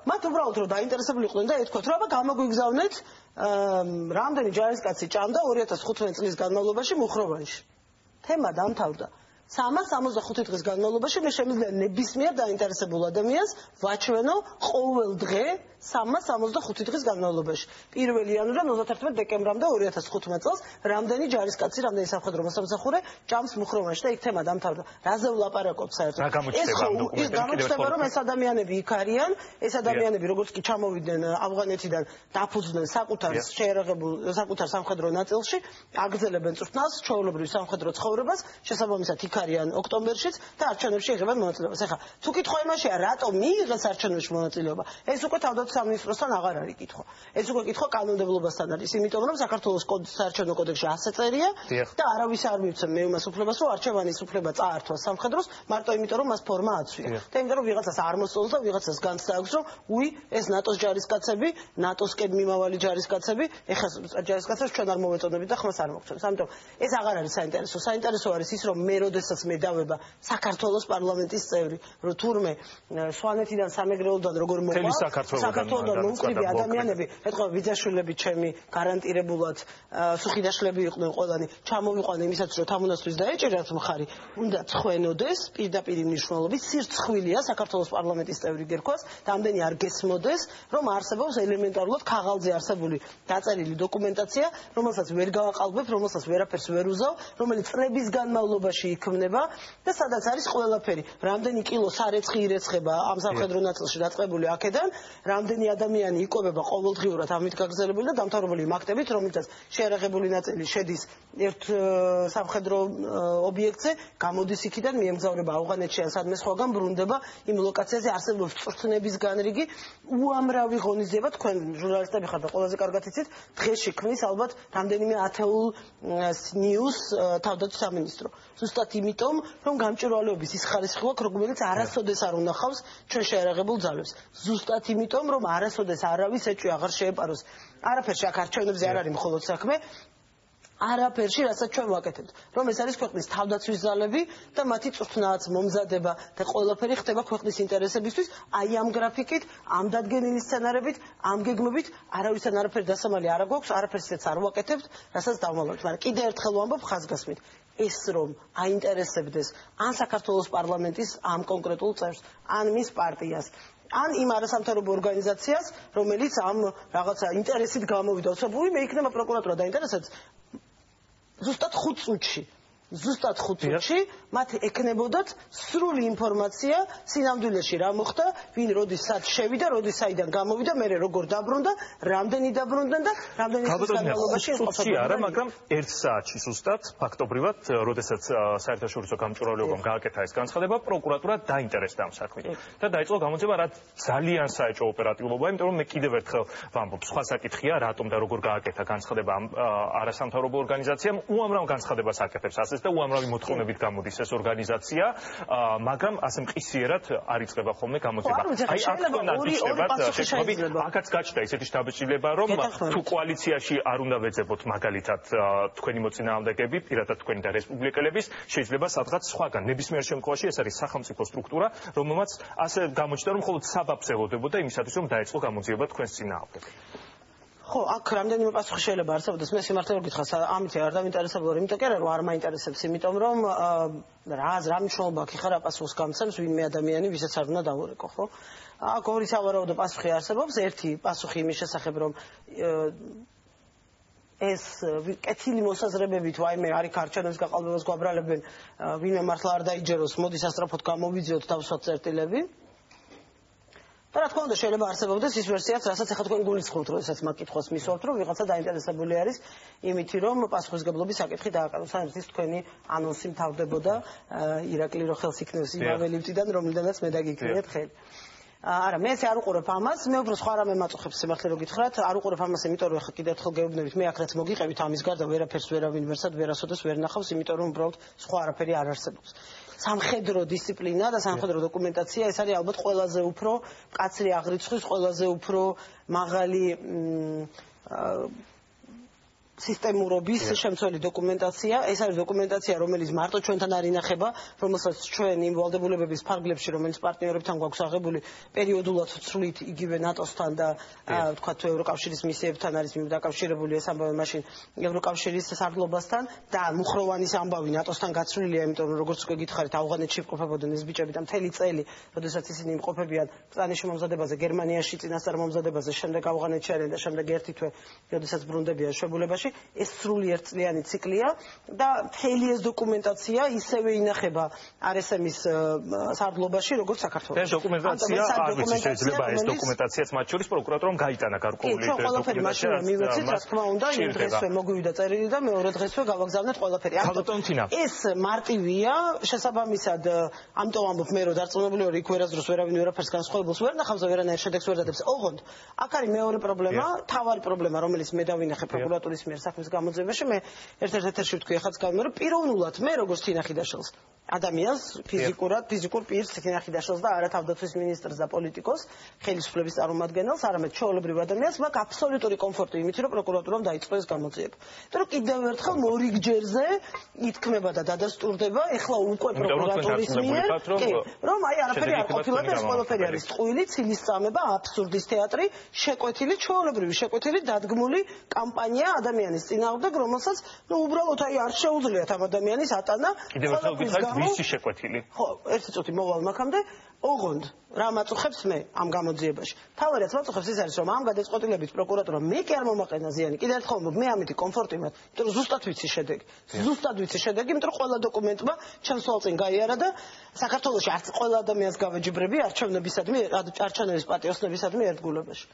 მათ უბრალოდ რომ დაინტერესებული იყვნენ და ეთქვათ, რომ აბა გამოგვიგზავნეთ რამდენი ჯარისკაცი ჭამდა 2015 წლის განმავლობაში მუხროვანში. თემა დამთავრდა. 365 დღის განმავლობაში მე შემიძლია ნებისმიერ დაინტერესებულ ადამიანს ვაჩვენო ყოველ დღე 365 დღის განმავლობაში. 1 იანვრიდან 31 დეკემბრამდე 2015 წელს რამდენი ჯარისკაცი, რამდენი სამხედრო მოსამსახურე ჭამს მუხროვანში და იქ თემა დამთავრდა. რაზე ვლაპარაკობ საერთოდ? ეს გამოჩნდება რომ ეს ადამიანები იქ არიან, ეს ადამიანები როგორც კი ჩამოვიდნენ ავღანეთიდან დაფუძნდნენ საკუთარ სამხედრო ნაწილში, აგრძელებენ წვრთნას, ჩვეულებრივ სამხედრო ცხოვრებას, შესაბამისად იქ არიან ოქტომბერშიც და არჩევნებში იღებენ მონაწილეობას. ეხლა თუ კითხვა იმაშია, რატომ მიიღეს არჩევნებში მონაწილეობა? ეს უკვე თავდაცვის სამინისტროსთან აღარ არის კითხვა. ეს უკვე კითხვა კანონმდებლობასთან არის, იმიტომ რომ საქართველოს საარჩევნო კოდექსში ასე წერია და არავის არ მივცემ მე იმას უფლებას, რომ არჩევანის უფლება წაართვა სამხედროს, მარტო იმიტომ რომ მას ფორმა აცვია. და იმიტომ რომ ვიღაცას არ მოსწონს და ვიღაცას განცდა აქვს, რომ უი ეს ნატოს ჯარისკაცები, ნატოსკენ მიმავალი ჯარისკაცები, ეხლა ჯარისკაცებს ჩვენ არ მოვეწონებით და ხმას არ მოგწონს. ამიტომ ეს აღარ არის საინტერესო. საინტერესო არის ის, რომ მე როდესაც მე დავება საქართველოს პარლამენტის წევრი, რომ თურმე სვანეთიდან სამეგრელოდან როგორ მოყვა საქართველოსთან მოუკვდები ადამიანები, ეთქვა ბიძაშვილები ჩემი გარანტირებულად სუხიდაშლები იყვნენ ყველანი, ჩამოვიყვანე იმისაც რომ თამუნასთვის დაეჭერათ მხარი, უნდა ცხვენოდეს პირდაპირ მნიშვნელობით სირცხვილია საქართველოს პარლამენტის წევრი გერქვას და ამდენი არ გესმოდეს, რომ არსებობს ელემენტარულად ქაღალდზე არსებული დაწერილი დოკუმენტაცია, რომელსაც ვერ გავაყალბებ, რომელსაც ვერაფერს ვერ უზავ, რომელიც წლების განმავლობაში იქმნება და სადაც არის ყველაფერი. რამდენი კილო სარეცხი ირეცხება ამ სამხედრო ნაწილში დაწყებული აქედან, რამდენი ადამიანი იკვებება ყოველდღიურად ამით გაგრძელებული და დამთავრებული მაქტებით, რომელსაც შეარაღებული ნაწილი შედის ერთ სამხედრო ობიექტზე, გამოდის იქიდან, მიემგზავრება ავღანეთში ან სადმე სხვაგან, ბრუნდება იმ ლოკაციაზე, არსებობს წვრთნების განრიგი, უამრავი ღონისძიება, თქვენ ჟურნალისტები ხართ და ყველაზე კარგად იცით, დღეში ქმნის ალბათ რამდენიმე ათეულ ნიუს თავდაცვის სამინისტრო. ზუსტად იმიტომ, რომ გამჭვირვალეობის ის ხარისხი გვაქვს, რომელიც არასოდეს არ უნახავს ჩვენ შეარაღებულ ძალებს. ზუსტად იმიტომ, რომ არასოდეს არავის ეჭვი აღარ შეეპაროს. არაფერში აქ არჩევნებზე არ არის მხოლოდ საქმე, არაფერში, რასაც ჩვენ ვაკეთებთ, რომ ეს არის ქვეყნის თავდაცვის ძალები და მათი წვრთნაც, მომზადება და ყველაფერი ხდება ქვეყნის ინტერესებისთვის, აი ამ გრაფიკით, ამ დადგენილი სცენარებით, ამ გეგმებით, არავისთან არაფერი დასამალი არ გვაქვს, არაფერს ისეც არ ვაკეთებთ, რასაც დავმალავთ. მაგრამ კიდევ ერთხელ ვამბობ ხაზგასმით, ეს რომ აინტერესებდეს ან საქართველოს პარლამენტის ამ კონკრეტულ წევრს, ან მის პარტიას, ან იმ არასამთავრობო ორგანიზაციას, რომელიც ამ რაღაცა ინტერესით გამოვიდა, ოცებული მე იქნება პროკურატურა დაინტერესებს ზუსტად 5 წუთში. ზუსტად 5 წუთში მათ ეკნებოდათ სრული ინფორმაცია სინამდვილეში რა მოხდა, ვინ როდის სად შევიდა, როდის საიდან გამოვიდა, მე როგორ დაბრუნდა, რამდენი დაბრუნდნენ და რამდენი წლის განმავლობაში იმყოფებოდა. არა, მაგრამ 1 საათში ზუსტად ფაქტობრივად, როდესაც საერთაშორისო გამჭვირვალეობამ გააკეთა ეს განცხადება, პროკურატურა დაინტერესდა ამ საქმით და დაიწყო გამოძიება, რაც ძალიან საეჭვო ოპერატიულობაა, იმიტომ რომ მე კიდევ ერთხელ ვამბობ, სხვა საკითხია, რატომ და როგორ გააკეთა განცხადება ამ არასამთავრობო ორგანიზაციამ, უამრავ განცხადებას აკეთებს ასეც და უამრავი მოთხოვნებით გამოდის ეს ორგანიზაცია, მაგრამ ასე მყისიერად არ იწყება ხოლმე გამოძიება. აი აქ აქაც გაჩნდა ისეთი შთაბეჭდილება, რომ თუ კოალიციაში არ უნდა ვეძებოთ მაგალითად თქვენი მოწინააღმდეგეები, პირადად თქვენი და რესპუბლიკელების, შეიძლება სადღაც სხვაგან. ნებისმიერ შემთხვევაში ეს არის სახელმწიფო სტრუქტურა, რომელმაც ასე გამოჩნდა, რომ მხოლოდ საბაბს ელოდებოდა იმისათვის, რომ დაეწყო გამოძიება თქვენს წინააღმდეგ. ხო, აქ რამდენიმე პასუხი შეიძლება არსებობდეს, მე სიმართლე ვერ გითხრას, ამით არ დავინტერესებული ვარ, იმიტომ კი არა, რომ არ მაინტერესებს, იმიტომ რომ რა მნიშვნელობა აქვს ხარ პასუხს გამცემს ვინმე ადამიანი, ვისაც არ უნდა დავურეკო, ხო? აქ ორი სავარაუდო პასუხი არსებობს, ერთი პასუხი იმის შესახებ, რომ ეს კეთილი მოსაზრებებით, ვაიმე, არის არჩევნების გაყალბებას გვაბრალებენ, ვინმე მართლა არ დაიჯეროს, მოდის ასტრაფოდ გამოვიძიოთ თავსვათ წერტილები. და რა თქმა უნდა შეიძლება არსებობდეს ის ვერსიაც, რასაც ახლა თქვენ გულისხმობთ, როდესაც მაგ კითხვას მისვამთ, რომ ვიღაცა დაინტერესებული არის იმითი, რომ პასუხისგებლობის საკითხი დააკარგოს. საერთოდ თქვენი ანონსი მთავრდებოდა ირაკლი რო ხელს იქნევს იმავე ლიფტიდან, რომლიდანაც მე დაგიქნიეთ ხელი. არა, მე ესე არ უყურებ ამას, მე უფრო სხვა რამე მაწუხებს სიმართლე რო გითხრათ, არ უყურებ ამას, იმიტომ რომ ახლა კიდევ ერთხელ გეუბნებით, მე აქ რაც მოგიყევით ამის გარდა ვერაფერს ვერავინ ვერსად ვერასოდეს ვერ ნახავს, იმიტომ რომ უბრალოდ სხვა არაფერი არ არსებობს. სამხედრო დისციპლინა და სამხედრო დოკუმენტაცია ეს არის ალბათ ყველაზე უფრო მკაცრი აღრიცხვის, ყველაზე უფრო მაღალი სისტემურობის შემცველი დოკუმენტაცია. ეს არის დოკუმენტაცია, რომელიც მარტო ჩვენთან არ ინახება, რომელსაც ჩვენ იმ ვალდებულებების ფარგლებში, რომელიც პარტნიორებთან გვაქვს აღებული, პერიოდულად ვცვლით იგივე ნატოსთან და ვთქვათ ევროკავშირის მისიებთან არის დაკავშირებული ეს ამბავი მაშინ ევროკავშირის სარდლობასთან და მუხროვანის ამბავი ნატოსთან გაცვლილია, იმიტომ რომ როგორც უკვე გითხარით, ავღანეთში იმყოფებოდნენ ეს ბიჭები და მთელი წელი, როდესაც ისინი იმყოფებიან ბრძანის მომზადებაზე, გერმანიაში წინასწარ მომზადებაზე, შემდეგ ავღანეთში არიან და შემდეგ ერთი თვე, როდესაც ბრუნდებიან შვებულებაში. ეს სრული ერთწლიანი ციკლია და მთელი ეს დოკუმენტაცია ისევე ინახება RSM-ის სარდლობაში, როგორც საქართველოში. ეს დოკუმენტაცია არ ვიცი, შეიძლება ეს დოკუმენტაციაც მათ შორის პროკურატურამ გაიტანა გარკვეული დოკუმენტაცია. მივეცით, რა თქმა უნდა, იმ დღესვე მოგვივიდა წერილი და მეორე დღესვე გავაგზავნეთ ყველაფერი. ეს მარტივია, შესაბამისად, ამიტომ ამბობ მე, რომ დარწმუნებული ვარ, იქ ვერასდროს ვერავინ ვერაფერს განსხვავებულს ვერ ნახავს და ვერანაირ შედეგს ვერ დადებს. ოღონდ, აქ არის მეორე პრობლემა, თავარი პრობლემა, რომელიც მე დავინახე პროკურატურის მიერ საქმის გამოძიებაში, მე ერთ-ერთ ეთერში ვთქვი, ახაც გავიმე, რომ პიროვნულად მე როგორც თინახი დაშელს ადამიანს ფიზიკურ პირს თინახი დაშელს და არა თავდაცვის მინისტრს და პოლიტიკოს, ხელისუფლების წარმომადგენელს, არამედ ჩვეულებრივ ადამიანს მაქვს აბსოლუტური კომფორტი იმით, რომ პროკურატურამ დაიწყო ეს გამოძიება. იმიტომ რომ კიდევ ერთხელ მორიგჯერზე ითქმება და დადასტურდება, ეხლა უკვე პროკურატურის მიერ, რომ აი არაფერი არ ყოფილა და ეს ყველაფერი არის ტყუილი, ცილისწამება, აბსურდის თეატრი, შეკვეთილი, ჩვეულებრივი შეკვეთილი დადგმული კამპანია ადამიანის წინააღმდეგ, რომელსაც უბრალოდ აი არ შეუძლიათ ამ ადამიანის ატანა. კიდევ ერთხელ გითხარით, ვისი შეკვეთილი? ხო, ერთი წუთი მოვალ მაგამდე. ოღონდ რა მაწუხებს მე ამ გამოძიებაში? თავი რაც მაწუხებს ის არის, რომ ამ გადაწყვეტილებით პროკურატურა მე კი არ მომაყენა ზიანი. კიდევ ერთხელ მე ამითი კომფორტი მაქვს, იმიტომ რომ ზუსტად ვიცი შედეგი. ზუსტად ვიცი შედეგი, იმიტომ რომ ყველა დოკუმენტმა ჩემს თვალწინ გაიარა და საქართველოში არც ყველა ადამიანს გავეჯიბრები არჩევნებისადმი, არჩევნების პატიოსნებისადმი ერთგულებაში.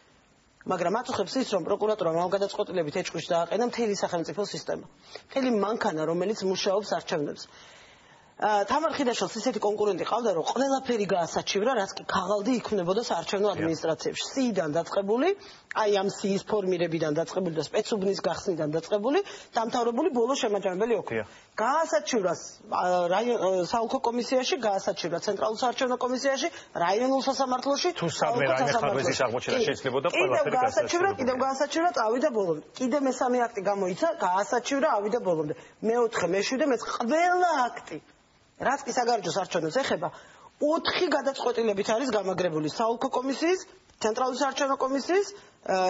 მაგრამ მაწუხებს ის, რომ პროკურატურამ ამ გადაწყვეტილებით ეჭვში დააყენა მთელი სახელმწიფო სისტემა. მთელი მანქანა, რომელიც მუშაობს არჩევნებს. თამარ ხიდაშვილს ისეთი კონკურენტი ყავდა, რომ ყველაფერი გაასაჩივრა, რაც კი ქაღალდი იქმნებოდა საარჩევნო ადმინისტრაციებში. სიიდან დაწყებული, აი ამ სიის ფორმირებიდან დაწყებული და სპეცუბნის გახსნიდან დაწყებული, დამთავრებული ბოლო შემაჯამებელი ოქრო. გაასაჩივრა საოლქო კომისიაში, გაასაჩივრა ცენტრალურ საარჩევნო კომისიაში, რაიონულ სასამართლოში, თუ სამე რაიმე ხარვეზის აღმოჩენა შეიძლებოდა ყველაფერი გაასაჩივრა, კიდევ გაასაჩივრა, ავიდა ბოლომდე. კიდევ მესამე აქტი გამოიცა, გაასაჩივრა, ავიდა ბოლომდე. მეოთხე, მეშვიდე, მეც ყველა აქტი რაც კი საგარეჯო საარჩევნოს ეხება, 4 გადაწყვეტილებით არის გამაგრებული საოლქო კომისიის, ცენტრალური საარჩევნო კომისიის,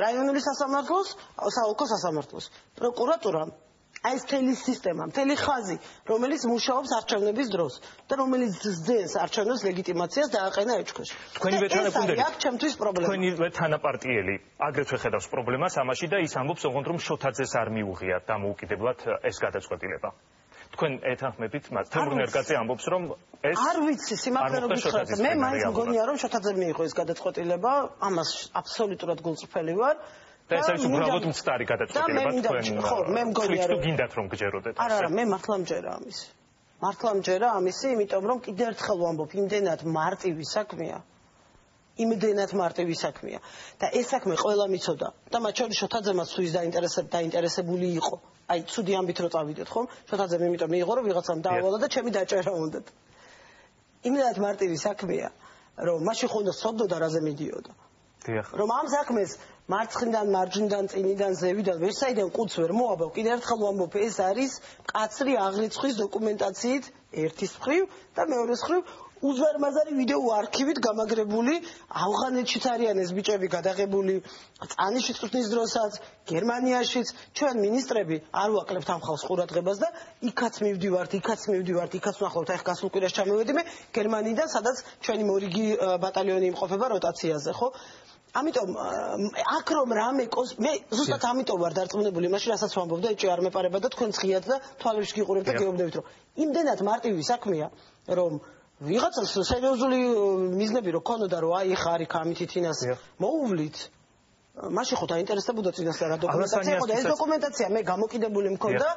რაიონული სასამართლოს, საოლქო სასამართლოს. პროკურატურამ აი ეს მთელი სისტემა, მთელი ხაზი, რომელიც მუშაობს არჩევნების დროს და რომელიც ზრდენს არჩევნების ლეგიტიმაციას დააყენა ეჭქვაში. თქვენივე თანაფუნდები, აქ ჩემთვის პრობლემა. თქვენივე თანაპარტიელი აგრეთვე ხედავს პრობლემას ამაში და ის ამბობს, ოღონდ რომ შოთაძეს არ მიუღია დამოუკიდებლად ეს გადაწყვეტილება. თქვენ ეთანხმებით მას? თემურ ნერგაძე ამბობს, რომ ეს არ ვიცი, სიმართლე რომ გითხრათ, მე მაინც მგონია, რომ შოთაძემ მიიღო ეს გადაწყვეტილება, ამას აბსოლუტურად გულწრფელი ვარ. და ეს არის უბრალოდ მცდარი გადაწყვეტილება თქვენ. ხო, მე მგონია, რომ გინდათ რომ გჯეროდეთ. არა, მე მართლა მჯერა ამისი. მართლა მჯერა ამისი, იმიტომ რომ კიდევ ერთხელ ვამბობ, იმდენად მარტივი საქმეა. იმდენად მარტივი საქმეა და ეს საქმე ყველა მიცოდა და მათ შორის შოთაძემაც თუ ის დაინტერესებული იყო. აი, ცუდი ამბით რო წავიდეთ, ხომ? შოთაძემ იმიტომ მიიღო, რომ ვიღაცამ დაავალა და ჩემი დაჭერა უნდათ. იმდენად მარტივი საქმეა, რომ მაშინ ხო უნდა სცოდოდა რაზე მიდიოდა. დიახ. რომ ამ საქმეს მარცხნიდან, მარჯვნიდან, წინიდან, ზევიდან, ვერსაიდან ყუთს ვერ მოაბავ. კიდევ ერთხელ ვამბობ, ეს არის მკაცრი აღრიცხვის დოკუმენტაციით ერთის მხრივ და მეორეს მხრივ უზარმაზარი ვიდეო არქივით გამაგრებული, ავღანეთშიც არიან ეს ბიჭები გადაღებული, წანიში წვნის დროსაც, გერმანიაშიც, ჩვენ მინისტრები არ ვაკლებთ ამ ხალხს ყურადღებას და იქაც მივდივართ, იქაც ვნახავთ, აი გასულ კვირაში ჩამოვედი მე გერმანიიდან, სადაც ჩვენი მორიგი ბატალიონი იმყოფება როტაციაზე, ხო? ამიტომ აქ რომ რამე მე ზუსტად ამიტომ ვარ დარწმუნებული იმაში, რასაც ვამბობ და ეჭვი არ მეპარება და თქვენ ცხიათ და თვალებში გიყურებთ და გეუბნებით, რომ იმდენად მარტივი საქმეა, რომ ვიღაცას სერიოზული მიზნები რო ქონოდა, რომ აი ხა არის ამითი თინას მოუვლით. მაშინ ხო დაინტერესებოდა წინასწარ რა დოკუმენტაცია იყო და ეს დოკუმენტაცია მე გამოკიდებული მქონდა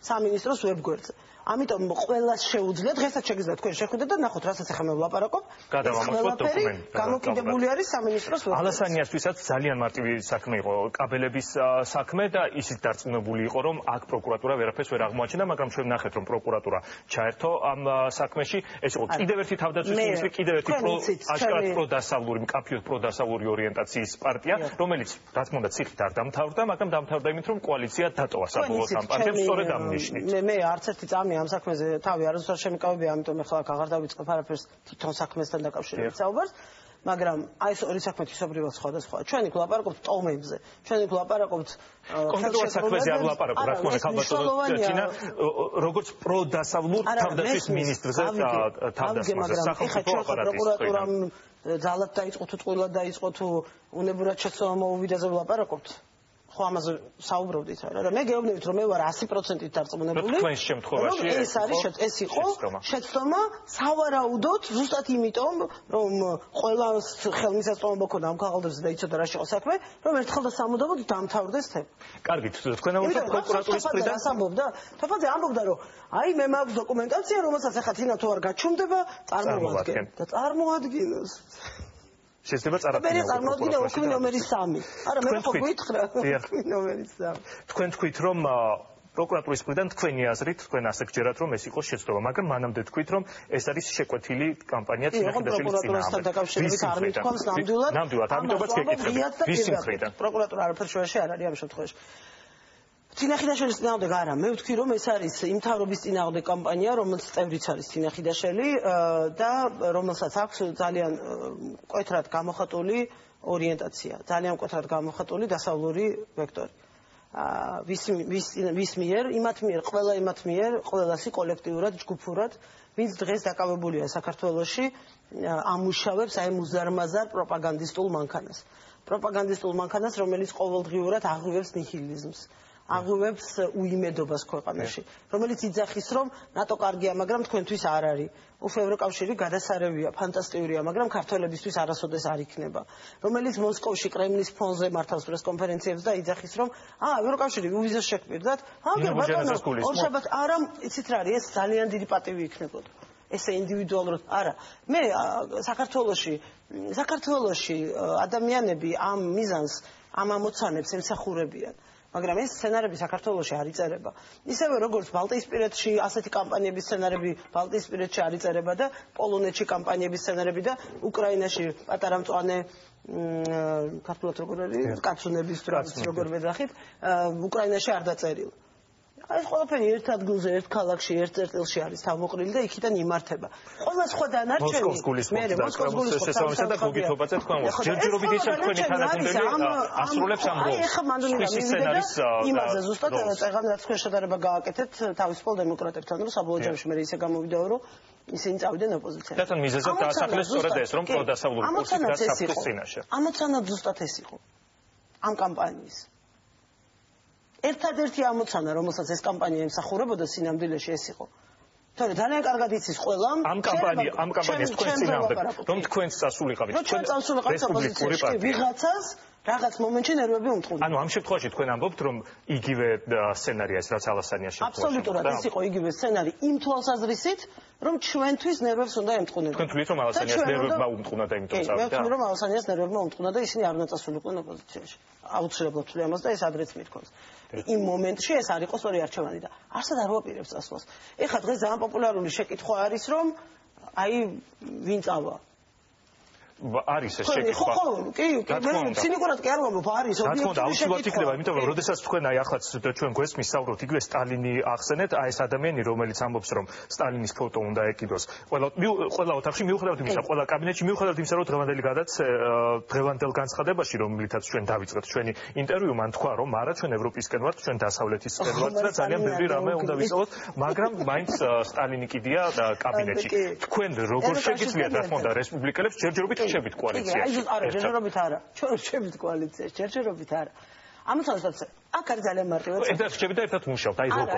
სამინისტროს ვებგვერდზე. ამიტომ ყველას შეუძლია დღესაც შეგიძლიათ თქვენ შეხვიდეთ და ნახოთ, რასაც ახლა მე ვლაპარაკობ. გადავამოწმოთ დოკუმენტი. გამოკიდებული არის სამინისტროს ვებგვერდზე. ალასანიასთვისაც ძალიან მარტივი საქმე იყო, კაბელების საქმე და ისიც დარწმუნებული იყო, რომ აქ პროკურატურა ვერაფერს ვერ აღმოაჩენდა, მაგრამ ჩვენ ნახეთ, რომ პროკურატურა ჩაერთო ამ საქმეში. ეს იყო კიდევ ერთი თავდაცვის მინისტრი, კიდევ ერთი აშკარად პროდასავლური, მკაფიოდ პროდასავლური ორიენტაციის პარტია, რომელიც მაინც რა თქმა უნდა ციხით არ დამთავრდა, მაგრამ დამთავრდა იმით, რომ კოალიცია დატოვა საბოლოოდ ამ პარტიამ სწორედ ამ ნიშნით. მე არც ერთი წამი ამ საქმეზე თავი არასდროს შემიკავებია, ამიტომ ახლა აქ აღარ დავიწყებ არაფერს თვითონ საქმესთან დაკავშირებით საუბარს. მაგრამ აი ეს ორი საქმე თვისობრივად სხვადასხვაა. ჩვენ იქ ვლაპარაკობთ ტომებზე, ჩვენ იქ ვლაპარაკობთ კონკრეტულად საქმეზე არ ვლაპარაკობ, რა თქმა უნდა, ხალბატონო ჩინა, როგორც პროდასავლურ თავდაცვის მინისტრზე თავდასხმაზე, სახელმწიფო აპარატის პროკურატურამ ძალად დაიწყო თუ წყვილად დაიწყო თუ უნებურად შეცდომა მოუვიდა ზე ვლაპარაკობთ. ხო ამაზე საუბრობდით რა. მე გეუბნებით რომ მე ვარ 100%-ით დარწმუნებული. თქვენს შემთხვევაში ეს იყო შეცდომა სავარაუდოდ ზუსტად იმიტომ რომ ყველას ხელმისაწვდომობა ქონდა ამ ქაღალდებზე და იცოდა რა შეყო საქმე, რომ ერთხელ და სამუდამოდ დამთავრდეს თემა. კარგით, თქვენ ამბობთ პროკურატურის მხრიდან ამბობდა, თოფაძე ამბობდა რომ აი მე მაქვს დოკუმენტაცია, რომელსაც ახლა თინა თუ არ გაჩუმდება, წარმოადგენ და წარმოადგინოს. შეიძლება წარადგინოს. მე წარმოადგინა ოქმი ნომერი 3. არა, მე ხო გითხრა. ოქმი ნომერი 3. თქვენ თქვით რომ პროკურატურის მხრიდან თქვენი აზრით, თქვენ ასე გჯერათ რომ ეს იყო შეცდომა, მაგრამ მანამდე თქვით რომ ეს არის შეკვეთილი კამპანია წინახიდაშვილის პროკურატურასთან დაკავშირებით არ მithქვამს ნამდვილად. ნამდვილად, ამიტომაც გეკითხებით. ვის მხრიდან? პროკურატურა არაფერ შუაში არ არის ამ შემთხვევაში. წინახიდაშვილის წინააღმდეგ არა, მე ვთქვი რომ ეს არის იმ მთავრობის წინააღმდეგ კამპანია, რომელიც წევრიც არის წინახიდაშვილი და რომელსაც აქვს ძალიან მკვეთრად გამოხატული ორიენტაცია, ძალიან მკვეთრად გამოხატული დასავლური ვექტორი. ვის მიერ, ყველა იმათ მიერ, ყველასი კოლექტიურად, ჯგუფურად, ვინც დღეს დაკავებულია საქართველოში, ამუშავებს აი მუზარმაზარ პროპაგანდისტულ მანქანას. პროპაგანდისტულ მანქანას, რომელიც ყოველდღიურად აღვივებს ნიჰილიზმს. აღვივებს უიმედობას ქვეყანაში, რომელიც იძახის, რომ ნატო კარგია, მაგრამ თქვენთვის არ არის. ევროკავშირი გადასარევია, ფანტასტიურია, მაგრამ ქართველებისთვის არასოდეს არ იქნება. რომელიც მოსკოვში კრემლის ფონზე მართავს პრესკონფერენციებს და იძახის, რომ ევროკავშირი ვიზას შეგვირდათ, ბატონო, ორშაბათ არა, იცით რა არის, ეს ძალიან დიდი პატივი იქნებოდა. ესე ინდივიდუალურად არა. მე საქართველოში ადამიანები ამ მიზანს, ამ ამოცანებს ემსახურებიან. მაგრამ ეს სცენარები საქართველოში არ იწერება. ისევე როგორც ბალტიისპირეთში ასეთი კამპანიების სცენარები ბალტიისპირეთში არ იწერება და პოლონეთში კამპანიების სცენარები და უკრაინაში პატარა მწვანე ქართულად როგორ არის კაცუნების როგორ ვეძახით უკრაინაში არ დაწერილა. ეს ყველაფერი ერთ ადგილზე, ერთ ქალაქში, ერთ წერტილში არის თავმოყრილი და იქიდან იმართება. ყველა სხვა დანარჩენი მოსკოვის გულის შესაბამისად და გოგითობაზე თქვენ ჯერჯერობით ისე თქვენი თანაგუნდელი ასრულებს ამ როლს. ეხლა მანდ უნდა სცენარის იმაზე ზუსტად წეგან რაც თქვენ შედარება გააკეთეთ თავისუფალ დემოკრატებთან, რომ საბოლოო ჯამში მე ისე გამოვიდა რომ ისინი წავიდნენ ოპოზიციაზე. და თან მიზეზად დაასახლეს სწორედ ეს რომ პროდასავლური კურსით რაც საფრთხის წინაშე. ამოცანად ზუსტად ეს იყო. ამ კამპანიის ერთადერთი ამოცანა, რომელსაც ეს კამპანია ემსახურებოდა სინამდვილეში ეს იყო. თორე ძალიან კარგად იცის ყველამ ამ კამპანიას თქვენ წინააღმდეგ რომ თქვენს წასულიყავით თქვენ წასულიყავით ოპოზიციაში ვიღაცას რაღაც მომენტში ნერვები უმტყუნდა. ანუ ამ შემთხვევაში თქვენ ამბობთ რომ იგივე სცენარია ეს რაც ალასანიას შემთხვევაში. აბსოლუტურად ეს იყო იგივე სცენარი იმ თვალსაზრისით რომ ჩვენთვის ნერვებს უნდა ემტყუნებოდეს. თქვენ თვლით რომ ალასანიას ნერვებმა უმტყუნა და იმიტომ წავიდა. მე ვთვლი რომ ალასანიას ნერვებმა უმტყუნა და ისინი არ უნდა წასულიყვნენ ოპოზიციაში. აუცილებლად ვთვლი ამას და ეს ადრეც მithქვამს. იმ მომენტში ეს არ იყო სწორი არჩევანი და არსად არ ვაპირებს წასვლას. ეხლა დღეს ძალიან პოპულარული შეკითხვა არის რომ აი ვინ წავა არის ეს შეკითხვა. კი, ცინიკურად კი არ ვამბობ, არის ობიექტური შეკითხვა. იქნება, იმიტომ რომ როდესაც თქვენ აი ახლა ჩვენ გვესმის საუბრობთ, იგივე სტალინი ახსენეთ, აი ეს ადამიანი, რომელიც ამბობს, რომ სტალინის ფოტო უნდა ეკიდოს. ყველა ოთახში მიუხედავად იმისა, ყველა კაბინეტში მიუხედავად იმისა, რომ დღევანდელ განცხადებაში, რომლითაც ჩვენ დავიწყეთ ჩვენი ინტერვიუ, მან თქვა, რომ არა, ჩვენ ევროპისკენ ვართ, ჩვენ დასავლეთისკენ ვართ და ძალიან ბევრი რამე უნდა ვიცოდოთ, მაგრამ მაინც სტალინი კიდია კაბინეტში. თქვენ როგორ შეგიძლიათ, რა თქმა უნდა, რესპუბლიკელებს ჯერჯერობით შევით კოალიციაში. არა, ჯერჯერობით არა. ჩვენ შევით კოალიციაში, ჯერჯერობით არა. ამოწონსაც აქ არის ძალიან მარტივად. ერთად შევით და ერთად მუშაობთ. აი როგორ?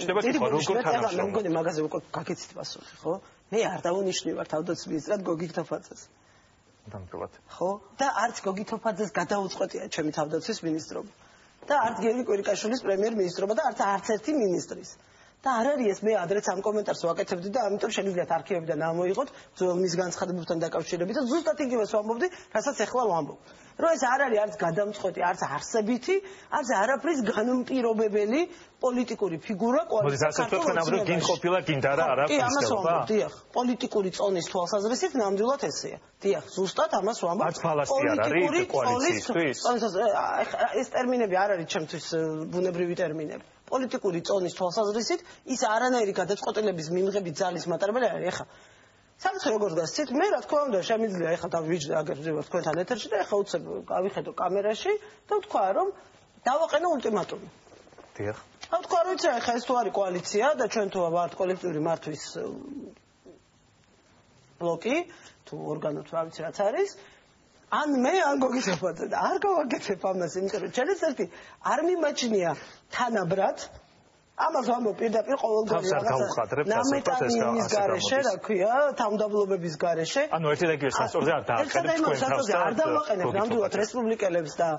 შევით როგორ თანამშრომლობთ. მე მგონი მაგაზე უკვე გაკეთეთ პასუხი, ხო? მე არ დავუნიშნივარ თავდაცვის მინისტრად გოგი თოფაძეს. დამწუხრად. ხო? და არც გოგი თოფაძეს გადაუწყვეტია ჩემი თავდაცვის მინისტრობა. და არც გიორგი კვირიკაშვილის პრემიერ-მინისტრობა და არც ერთი მინისტრის. და არ არის ეს მე ადრეც ამ კომენტარს ვაკეთებდი და ამიტომ შეგიძლიათ არქივებიდან ამოიღოთ მის განცხადებებთან დაკავშირებით და ზუსტად იგივეს ვამბობდი, რასაც ახლა ვამბობ. რომ ეს არ არის არც გადამწყვეტი, არც არსებითი, არც არაფრის განმპირობებელი პოლიტიკური ფიგურა კოალიციის საქართველოს გინ ყოფილა გინდა რა არა ფისკალობა. დიახ, პოლიტიკური წონის თვალსაზრისით ნამდვილად ესეა. დიახ, ზუსტად ამას ვამბობ. არც ფალასი არ არის კოალიცისთვის. ეს ტერმინები არ არის ჩემთვის ბუნებრივი ტერმინები. პოლიტიკური წონის თვალსაზრისით ის არანაირი გადაწყვეტილების მიღების ძალის მატარებელი არ არის. ეხლა სამწე როგორც გასცით, მე რა თქმა უნდა შემიძლია ეხლა დავიჯდე აგერ ვარ თქვენთან ეთერში და ეხლა უცებ გავიხედო კამერაში და ვთქვა რომ დავაყენო ულტიმატუმი. დიახ. ვთქვა რომ იცი ეხლა ეს თუ არის კოალიცია და ჩვენ თუ ვართ კოლექტიური მართვის ბლოკი, თუ ორგანო თუ რა ვიცი რაც არის, ან მე ან გოგიზაფაძე და არ გავაკეთებ ამას, იმიტომ რომ ჩემს ერთი არ მიმაჩნია თანაბრად ამას ვამბობ პირდაპირ ყოველდღიურად ნამეტანის გარეშე, რა ქვია, თავმდაბლობების გარეშე. ანუ ერთი და იგივე სასწორზე არ დააყენებთ თქვენ თავს და არ დავაყენებ ნამდვილად რესპუბლიკელებს და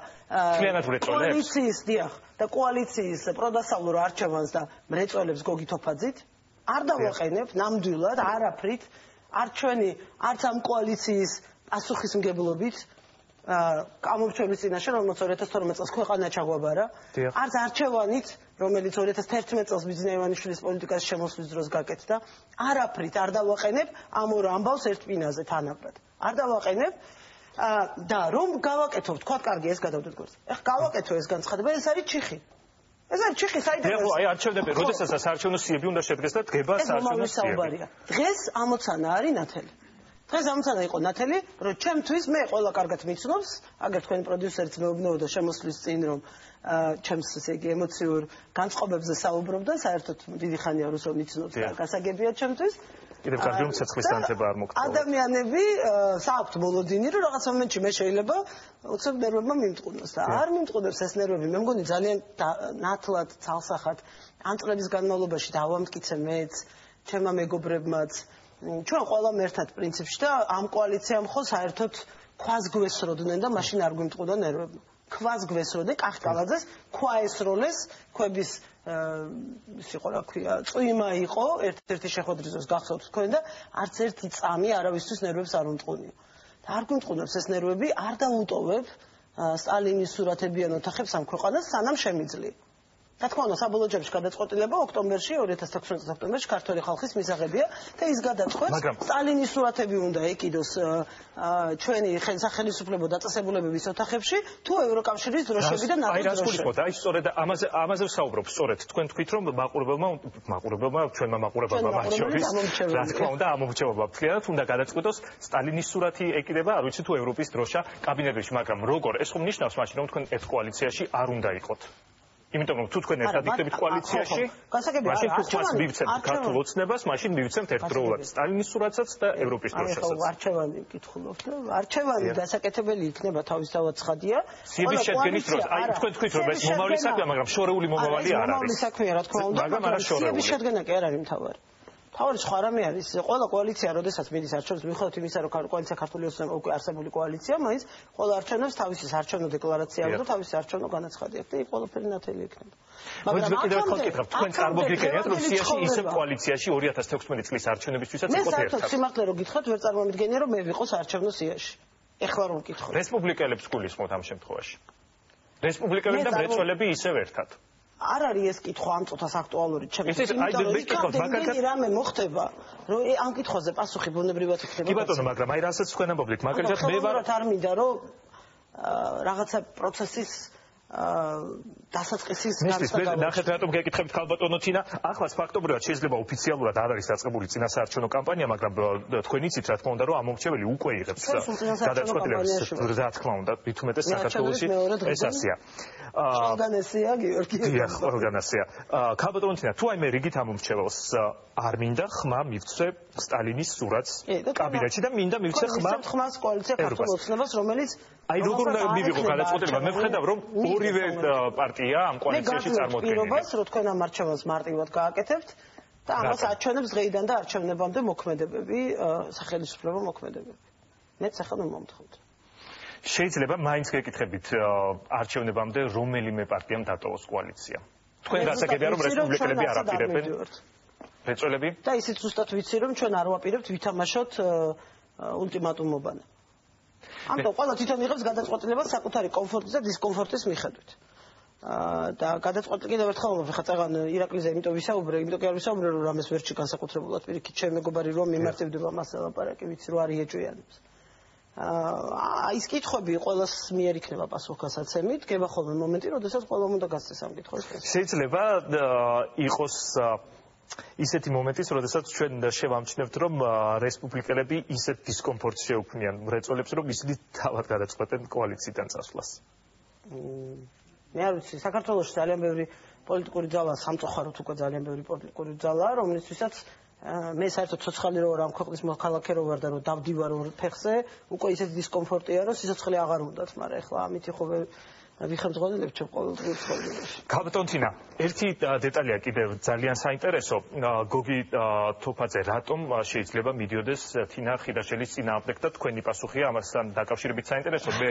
კოალიციის, დიახ, და კოალიციის პროდასავლურ არჩევანს და მრეწველებს გოგითოფაძით არ დავაყენებ ნამდვილად არაფრით, არც ჩვენი, არც ამ კოალიციის პასუხისმგებლობით გამორჩევის წინაშე, რომელიც 2012 წელს ქვეყანა ჩაგვაბარა, არც არჩევანით, რომელიც 2011 წელს ბიძინა ივანიშვილის პოლიტიკას შემოსვლის დროს გაკეთდა, არაფრით არ დავაყენებ ამ ორ ამბავს ერთ პინაზე თანაბრად. არ დავაყენებ და რომ გავაკეთო, თქვა კარგი ეს გადავდეთ გვერდზე. ეხლა გავაკეთო ეს განცხადება, ეს არის ჩიხი. ეს არის ჩიხი საიდან? ეხლა აი არჩევნები, როდესაც საარჩევნო სიები უნდა შედგეს და დგება საარჩევნო სიები. დღეს ამოცანა არის ნათელი. დღეს ამოცანა იყო ნათელი, რომ ჩემთვის მე ყველა კარგად მიცნობს, აგერ თქვენი პროდიუსერიც მეუბნებოდა შემოსვლის წინ, რომ ჩემს ესე იგი ემოციურ განწყობებზე საუბრობდა, საერთოდ დიდი ხანია რომ მიცნობს და გასაგებია ჩემთვის. კიდევ კარგი რომ ცეცხლის განცება არ მოგწოვა. ადამიანები საუბრობთ მოლოდინი, რომ რაღაც მომენტში მე შეიძლება უცებ ნერვებმა მიმტყუნოს და არ მიმტყუნებს ეს ნერვები. მე მგონი ძალიან ნათლად, ცალსახად ამ წლების განმავლობაში დავამტკიცე მეც, ჩემმა მეგობრებმაც ჩვენ ყველამ ერთად პრინციპში და ამ კოალიციამ ხო საერთოდ ქვას გვესროდნენ და მაშინ არ გვიმტყუდა ნერვებმა. ქვას გვესროდნენ, კახკალაძეს ქვა ესროლეს, ქვების ის იყო რა ქვია, წვიმა იყო, ერთ-ერთი შეხვედრის დროს გახსოვთ თქვენ და არც ერთი წამი არავისთვის ნერვებს არ უმტყუნია. და არ გვიმტყუნებს ეს ნერვები, არ დავუტოვებ სტალინის სურათებიან ოთახებს ამ ქვეყანას, სანამ შემიძლია. რა თქმა უნდა, საბოლოო ჯამში გადაწყვეტილება ოქტომბერში, 2016 წლის ოქტომბერში ქართული ხალხის მისაღებია და ის გადაწყვეტს სტალინის სურათები უნდა ეკიდოს ჩვენი სახელმწიფო დაწესებულებების ოთახებში თუ ევროკავშირის დროშები და ნატოს დროშები. აი სწორედ ამაზე ვსაუბრობ, სწორედ თქვენ თქვით რომ მაყურებელმა ჩვენმა მაყურებელმა მათ შორის რა თქმა უნდა ამომრჩევობა მთლიანად უნდა გადაწყვეტოს სტალინის სურათი ეკიდება, არ ვიცი თუ ევროპის დროშა კაბინეტებში, მაგრამ როგორ ეს ხომ ნიშნავს მაშინ რომ თქვენ ერთ კოალიციაში არ უნდა იყოთ. იმიტომ რომ თუ თქვენ ერთად იქნებით კოალიციაში, მაშინ თუ ხმას მივცემთ ქართულ ოცნებას, მაშინ მივცემთ ერთდროულად სტალინის სურათსაც და ევროპის დროშასაც. არჩევანი ვკითხულობთ, არჩევანი დასაკეთებელი იქნება თავისთავად ცხადია. სიების შედგენის დროს, აი თქვენ თქვით რომ ეს მომავალი საქმეა, მაგრამ შორეული მომავალი არ არის. მომავალი საქმეა, რა თქმა უნდა, მაგრამ სიების შედგენა კი არ არის მთავარი. თავი სხვა რამე არის, ყველა კოალიცია, როდესაც მიდის არჩევნებს, მიუხედავად იმისა, რომ კოალიცია ქართული ოცნება უკვე არსებული კოალიცია, მაინც ყველა არჩევნებს თავისი საარჩევნო დეკლარაცია აქვს და თავისი საარჩევნო განაცხადი აქვს და იქ ყველაფერი ნათელი იქნება. მაგრამ კიდევ ერთხელ ვკითხავ, თქვენ წარმოგიდგენიათ, რომ სიაში ისევ კოალიციაში 2016 წლის არჩევნებისთვისაც იყოთ ერთად? მე საერთოდ სიმართლე რომ გითხრათ, ვერ წარმომიდგენია, რომ მე ვიყო საარჩევნო სიაში. ეხლა რომ ვკითხოთ. რესპუბლიკელებს გულისხმობთ ამ შემთხვევაში. რესპუბლიკელები და მრეწველები ისევ ერთად. არ არის ეს კითხვა ამ წუთას აქტუალური ჩემთვის. რამე მოხდება, რომ ამ კითხვაზე პასუხი ბუნებრივად იქნება. კი ბატონო, მაგრამ აი რასაც თქვენ ამბობთ, მაგალითად მე ვარ არ მინდა რომ რაღაცა პროცესის დასაწყისის განსაკუთრებით ნახეთ რატომ გეკითხებთ ქალბატონო თინა, ახლაც ფაქტობრივად შეიძლება ოფიციალურად არ არის დაწყებული წინასაარჩევნო კამპანია, მაგრამ თქვენ იცით რა თქმა უნდა რომ ამომრჩეველი უკვე იღებს გადაწყვეტილებას, რა თქმა უნდა, თვითმეტეს საქართველოში ეს ასია. ყველგანესია გიორგი. დიახ, ყველგანესია. ქალბატონო თინა, თუ აი მე რიგით ამომრჩეველს არ მინდა ხმა მივცე სტალინის სურათს კაბინეტში და მინდა მივცე ხმას კოალიცია ქართულ ოცნებას, რომელიც აი როგორ უნდა მივიღო გადაწყვეტილება? მე ვხედავ რომ ორივე პარტია ამ კოალიციაში წარმოადგენს. პირობას რომ თქვენ ამ არჩევანს მარტივად გააკეთებთ და ამას აჩვენებს დღეიდან და არჩევნებამდე მოქმედებები, სახელმწიფო მოქმედებები. მეც ახლა მომთხოვთ. შეიძლება მაინც გეკითხებით არჩევნებამდე რომელიმე პარტიამ დატოვოს კოალიცია. თქვენ გასაგებია რომ რესპუბლიკელები არ აპირებენ რეწველები და ისიც ზუსტად ვიცი რომ ჩვენ არ ვაპირებთ ვითამაშოთ ულტიმატუმობანა. ამიტომ ყველა თვითონ იღებს გადაწყვეტილებას საკუთარი კომფორტის და დისკომფორტის მიხედვით. და გადაწყვეტილი კიდევ ერთხელ ვამბობ, ხა წაღან ირაკლიზე იმიტომ ვისაუბრე, იმიტომ კი არ ვისაუბრე რომ რამეს ვერჩი განსაკუთრებულად პირიქით ჩემი მეგობარი რომ მიმართებდება მას ლაპარაკი, ვიცი რომ არ იეჭვიანებს. ის კითხვები ყოველს მიერ იქნება პასუხგასაცემი, დგება ხოლმე მომენტი, როდესაც ყველამ უნდა გასცეს ამ კითხვას. შეიძლება იყოს ისეთი მომენტიც, როდესაც ჩვენ შევამჩნევთ, რომ რესპუბლიკელები ისეთ დისკომფორტს შეუქმნიან მრეწველებს, რომ ისინი თავად გადაწყვეტენ კოალიციიდან წასვლას. მე არ ვიცი, საქართველოში ძალიან ბევრი პოლიტიკური ძალა, სამწუხაროდ უკვე ძალიან ბევრი პოლიტიკური ძალაა, რომლისთვისაც მე საერთოდ ცოცხალი რო ვარ ამ ქვეყნის მოქალაქე რო ვარ და რო დავდივარ ორ ფეხზე, უკვე ისეთი დისკომფორტია, რომ სიცოცხლე აღარ უნდათ, მაგრამ ეხლა ამით ხო ვიხელმძღვანელებ ჩემ ყოველდღიურ ცხოვრებაში. კაპიტან თინა, ერთი დეტალია კიდევ ძალიან საინტერესო. გოგი თოფაძე რატომ შეიძლება მიდიოდეს თინა ხიდაშელის წინააღმდეგ და თქვენი პასუხია ამასთან დაკავშირებით საინტერესო. მე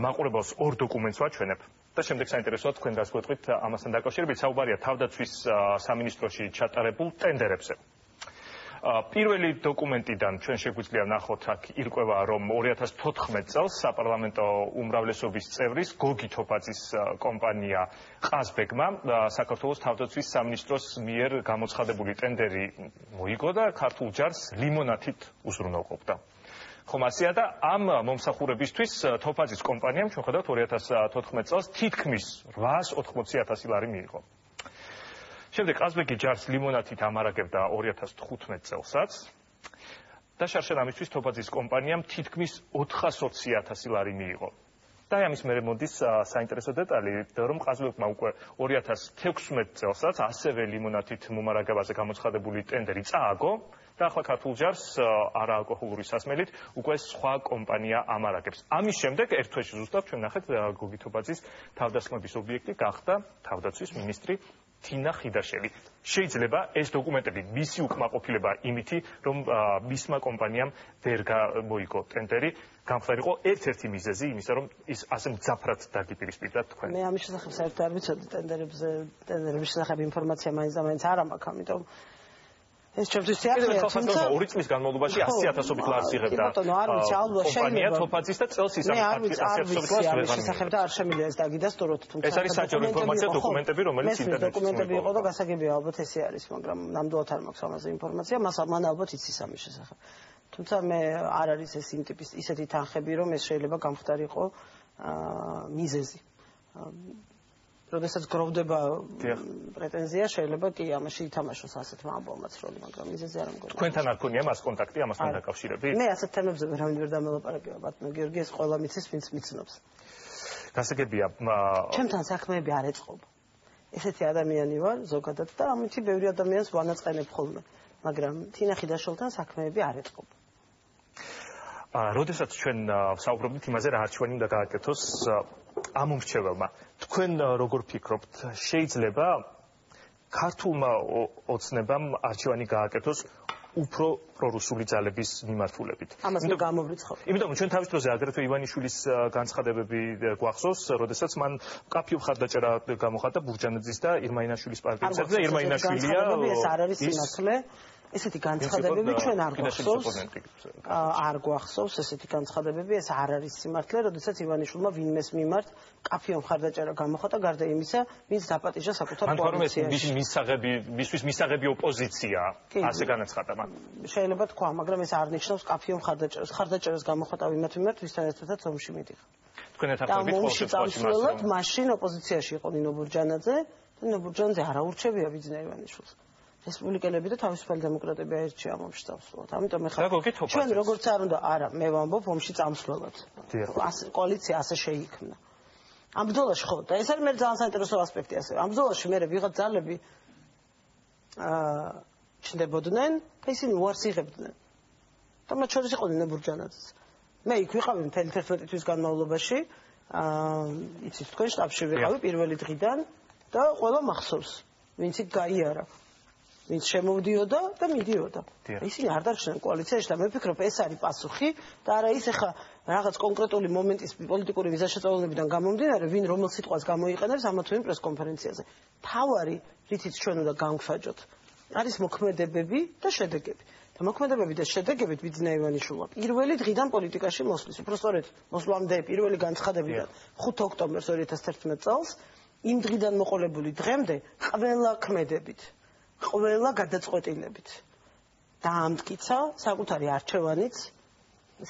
მაყურებელს ორ დოკუმენტს ვაჩვენებ და შემდეგ საინტერესოა თქვენ გასგვეტყვით ამასთან დაკავშირებით. საუბარია თავდაცვის სამინისტროში ჩატარებულ ტენდერებზე. პირველი დოკუმენტიდან ჩვენ შეგვიძლია ვნახოთ აქ ირკვევა რომ 2014 წელს საპარლამენტო უმრავლესობის წევრის გოგი თოფაძის კომპანია ყაზბეგმა საქართველოს თავდაცვის სამინისტროს მიერ გამოცხადებული ტენდერი მოიგო და ქართულ ჯარს ლიმონათით უზრუნველყოფდა. ხომ ასეა და ამ მომსახურებისთვის თოფაძის კომპანიამ ჩვენ ხედავთ 2014 წელს თითქმის 880,000 ლარი მიიღო. შემდეგ ყაზბეგი ჯარს ლიმონათით ამარაგებდა 2015 წელსაც და შარშან ამისთვის თოფაძის კომპანიამ თითქმის 420,000 ლარი მიიღო. და ამის მერე მოდის საინტერესო დეტალი, რომ ყაზბეგმა უკვე 2016 წელსაც ასევე ლიმონათით მომარაგებაზე გამოცხადებული ტენდერი წააგო და ახლა ქართულ ჯარს არაალკოჰოლური სასმელით უკვე სხვა კომპანია ამარაგებს. ამის შემდეგ ერთ თვეში ზუსტად ჩვენ ნახეთ გოგი თოფაძის თავდასხმების ობიექტი გახდა თავდაცვის მინისტრი თინა ხიდაშელი. შეიძლება ეს დოკუმენტები მისი უკმაყოფილება იმითი, რომ მისმა კომპანიამ ვერ გამოიგო ტენდერი, გამხდარიყო ერთ-ერთი მიზეზი იმისა, რომ ის ასე მძაფრად დაგიპირისპირდა თქვენ. მე ამის შესახებ საერთოდ არ ვიცოდი ტენდერების შესახებ ინფორმაცია მაინც და მაინც არ ამაქვს, ამიტომ ეს ჩემთვის სიახლეა, თუმცა 2 წლის განმავლობაში 100,000-ობით ლარს იღებდა. კომპანია თოფაძის და წელს ის 100,000-ობით ლარს ვერ შესახებდა არ შემიძლია ეს დაგიდასტუროთ, თუმცა ეს არის საჯარო ინფორმაცია, დოკუმენტები, რომელიც ინტერნეტში დოკუმენტები იყო და გასაგებია ალბათ ესე არის, მაგრამ ნამდვილად არ მაქვს ამაზე ინფორმაცია, მან ალბათ იცის ამის შესახებ. თუმცა მე არ არის ეს იმ ტიპის ისეთი თანხები, რომ ეს შეიძლება გამხდარიყო მიზეზი. როდესაც გროვდება პრეტენზია, შეიძლება კი ამაში ითამაშოს ასეთმა ამბავმაც როლი, მაგრამ მიზეზი არ მგონია. თქვენთან არ ქონია მას კონტაქტი ამასთან დაკავშირებით? მე ასეთ თემებზე ვერავინ ვერ დამელაპარაკება, ბატონო გიორგი, ეს ყველა მიცის, ვინც მიცნობს. გასაგებია, ჩემთან საქმეები არ ეწყობა. ესეთი ადამიანი ვარ ზოგადად და ამით ბევრი ადამიანს ვანაწყენებ ხოლმე, მაგრამ თინა ხიდაშელთან საქმეები არ ეწყობა. როდესაც ჩვენ საუბრობთ იმაზე, რა არჩევანი უნდა გააკეთოს ამ მომრჩეველმა, თქვენ როგორ ფიქრობთ, შეიძლება ქართულმა ოცნებამ არჩევანი გააკეთოს უფრო პრორუსული ძალების მიმართულებით? ამას გამოვრიცხავ. იმიტომ ჩვენ თავის დროზე აგრეთვე ივანიშვილის განცხადებები გვახსოვს, როდესაც მან მკაფიო მხარდაჭერა გამოხატა ბურჯანაძის და ირმაინაშვილის პარტიებისადმი და ირმაინაშვილია ეს არ არის სიმართლე. ესეთი განცხადებები ჩვენ არ გვახსოვს. არ გვახსოვს ესეთი განცხადებები, ეს არ არის სიმართლე, როდესაც ივანიშვილმა ვინმეს მიმართ კაფიო მხარდაჭერა გამოხატა, გარდა იმისა, ვინც დაპატიჟა საკუთარ კოალიციაში. მისთვის მისაღები ოპოზიცია, ასე განაცხადა მან. შეიძლება თქვა, მაგრამ ეს არ ნიშნავს კაფიო მხარდაჭერას. მხარდაჭერას გამოხატა ვინმე მიმართ, ვისთან ერთადაც ომში მიდიხარ. თქვენ ეთანხმებით ომში წამსვლელად მაშინ ოპოზიციაში იყო ნინო ბურჯანაძე და ნინო ბურჯანაძე არ აურჩევია ვიძინა ივანიშვილს. რესპუბლიკელები და თავისუფალი დემოკრატები აირჩია ომში წამსვლელად. ამიტომ ეხლა ჩვენ როგორც არ უნდა, არა, მე ვამბობ ომში წამსვლელად. კოალიცია ასე შეიქმნა. ამ ბრძოლაში ხო და ეს არის მე ძალიან საინტერესო ასპექტი ასე. ამ ბრძოლაში მე ვიღაც ძალები ჩნდებოდნენ და ისინი უარს იღებდნენ. და მათ შორის იყო ნინო ბურჯანაძეც. მე იქ ვიყავი მთელი 11 თვის განმავლობაში, იცით თქვენ შტაბში ვიყავი პირველი დღიდან და ყველა მახსოვს, ვინც იქ გაიარა. ვინც შემოვდიოდა და მიდიოდა. ისინი არ დარჩნენ კოალიციაში და მე ვფიქრობ ეს არის პასუხი და არა ის ახლა რაღაც კონკრეტული მომენტის პოლიტიკური მიზანშეწონებიდან გამომდინარე ვინ რომელ სიტყვას გამოიყენებს ამა თუ იმ პრესკონფერენციაზე. თავარი რითიც ჩვენ უნდა განგვსაჯოთ არის მოქმედებები და შედეგები. და მოქმედებები და შედეგებით ბიძინა ივანიშვილმა პირველი დღიდან პოლიტიკაში მოსვლის, უბრალოდ მოსვლამდე პირველი განცხადებიდან 5 ოქტომბერს 2011 წელს იმ დღიდან მოყოლებული დღემდე ყველა ქმედებით, ყველა გადაწყვეტილებით დაამტკიცა საკუთარი არჩევანიც,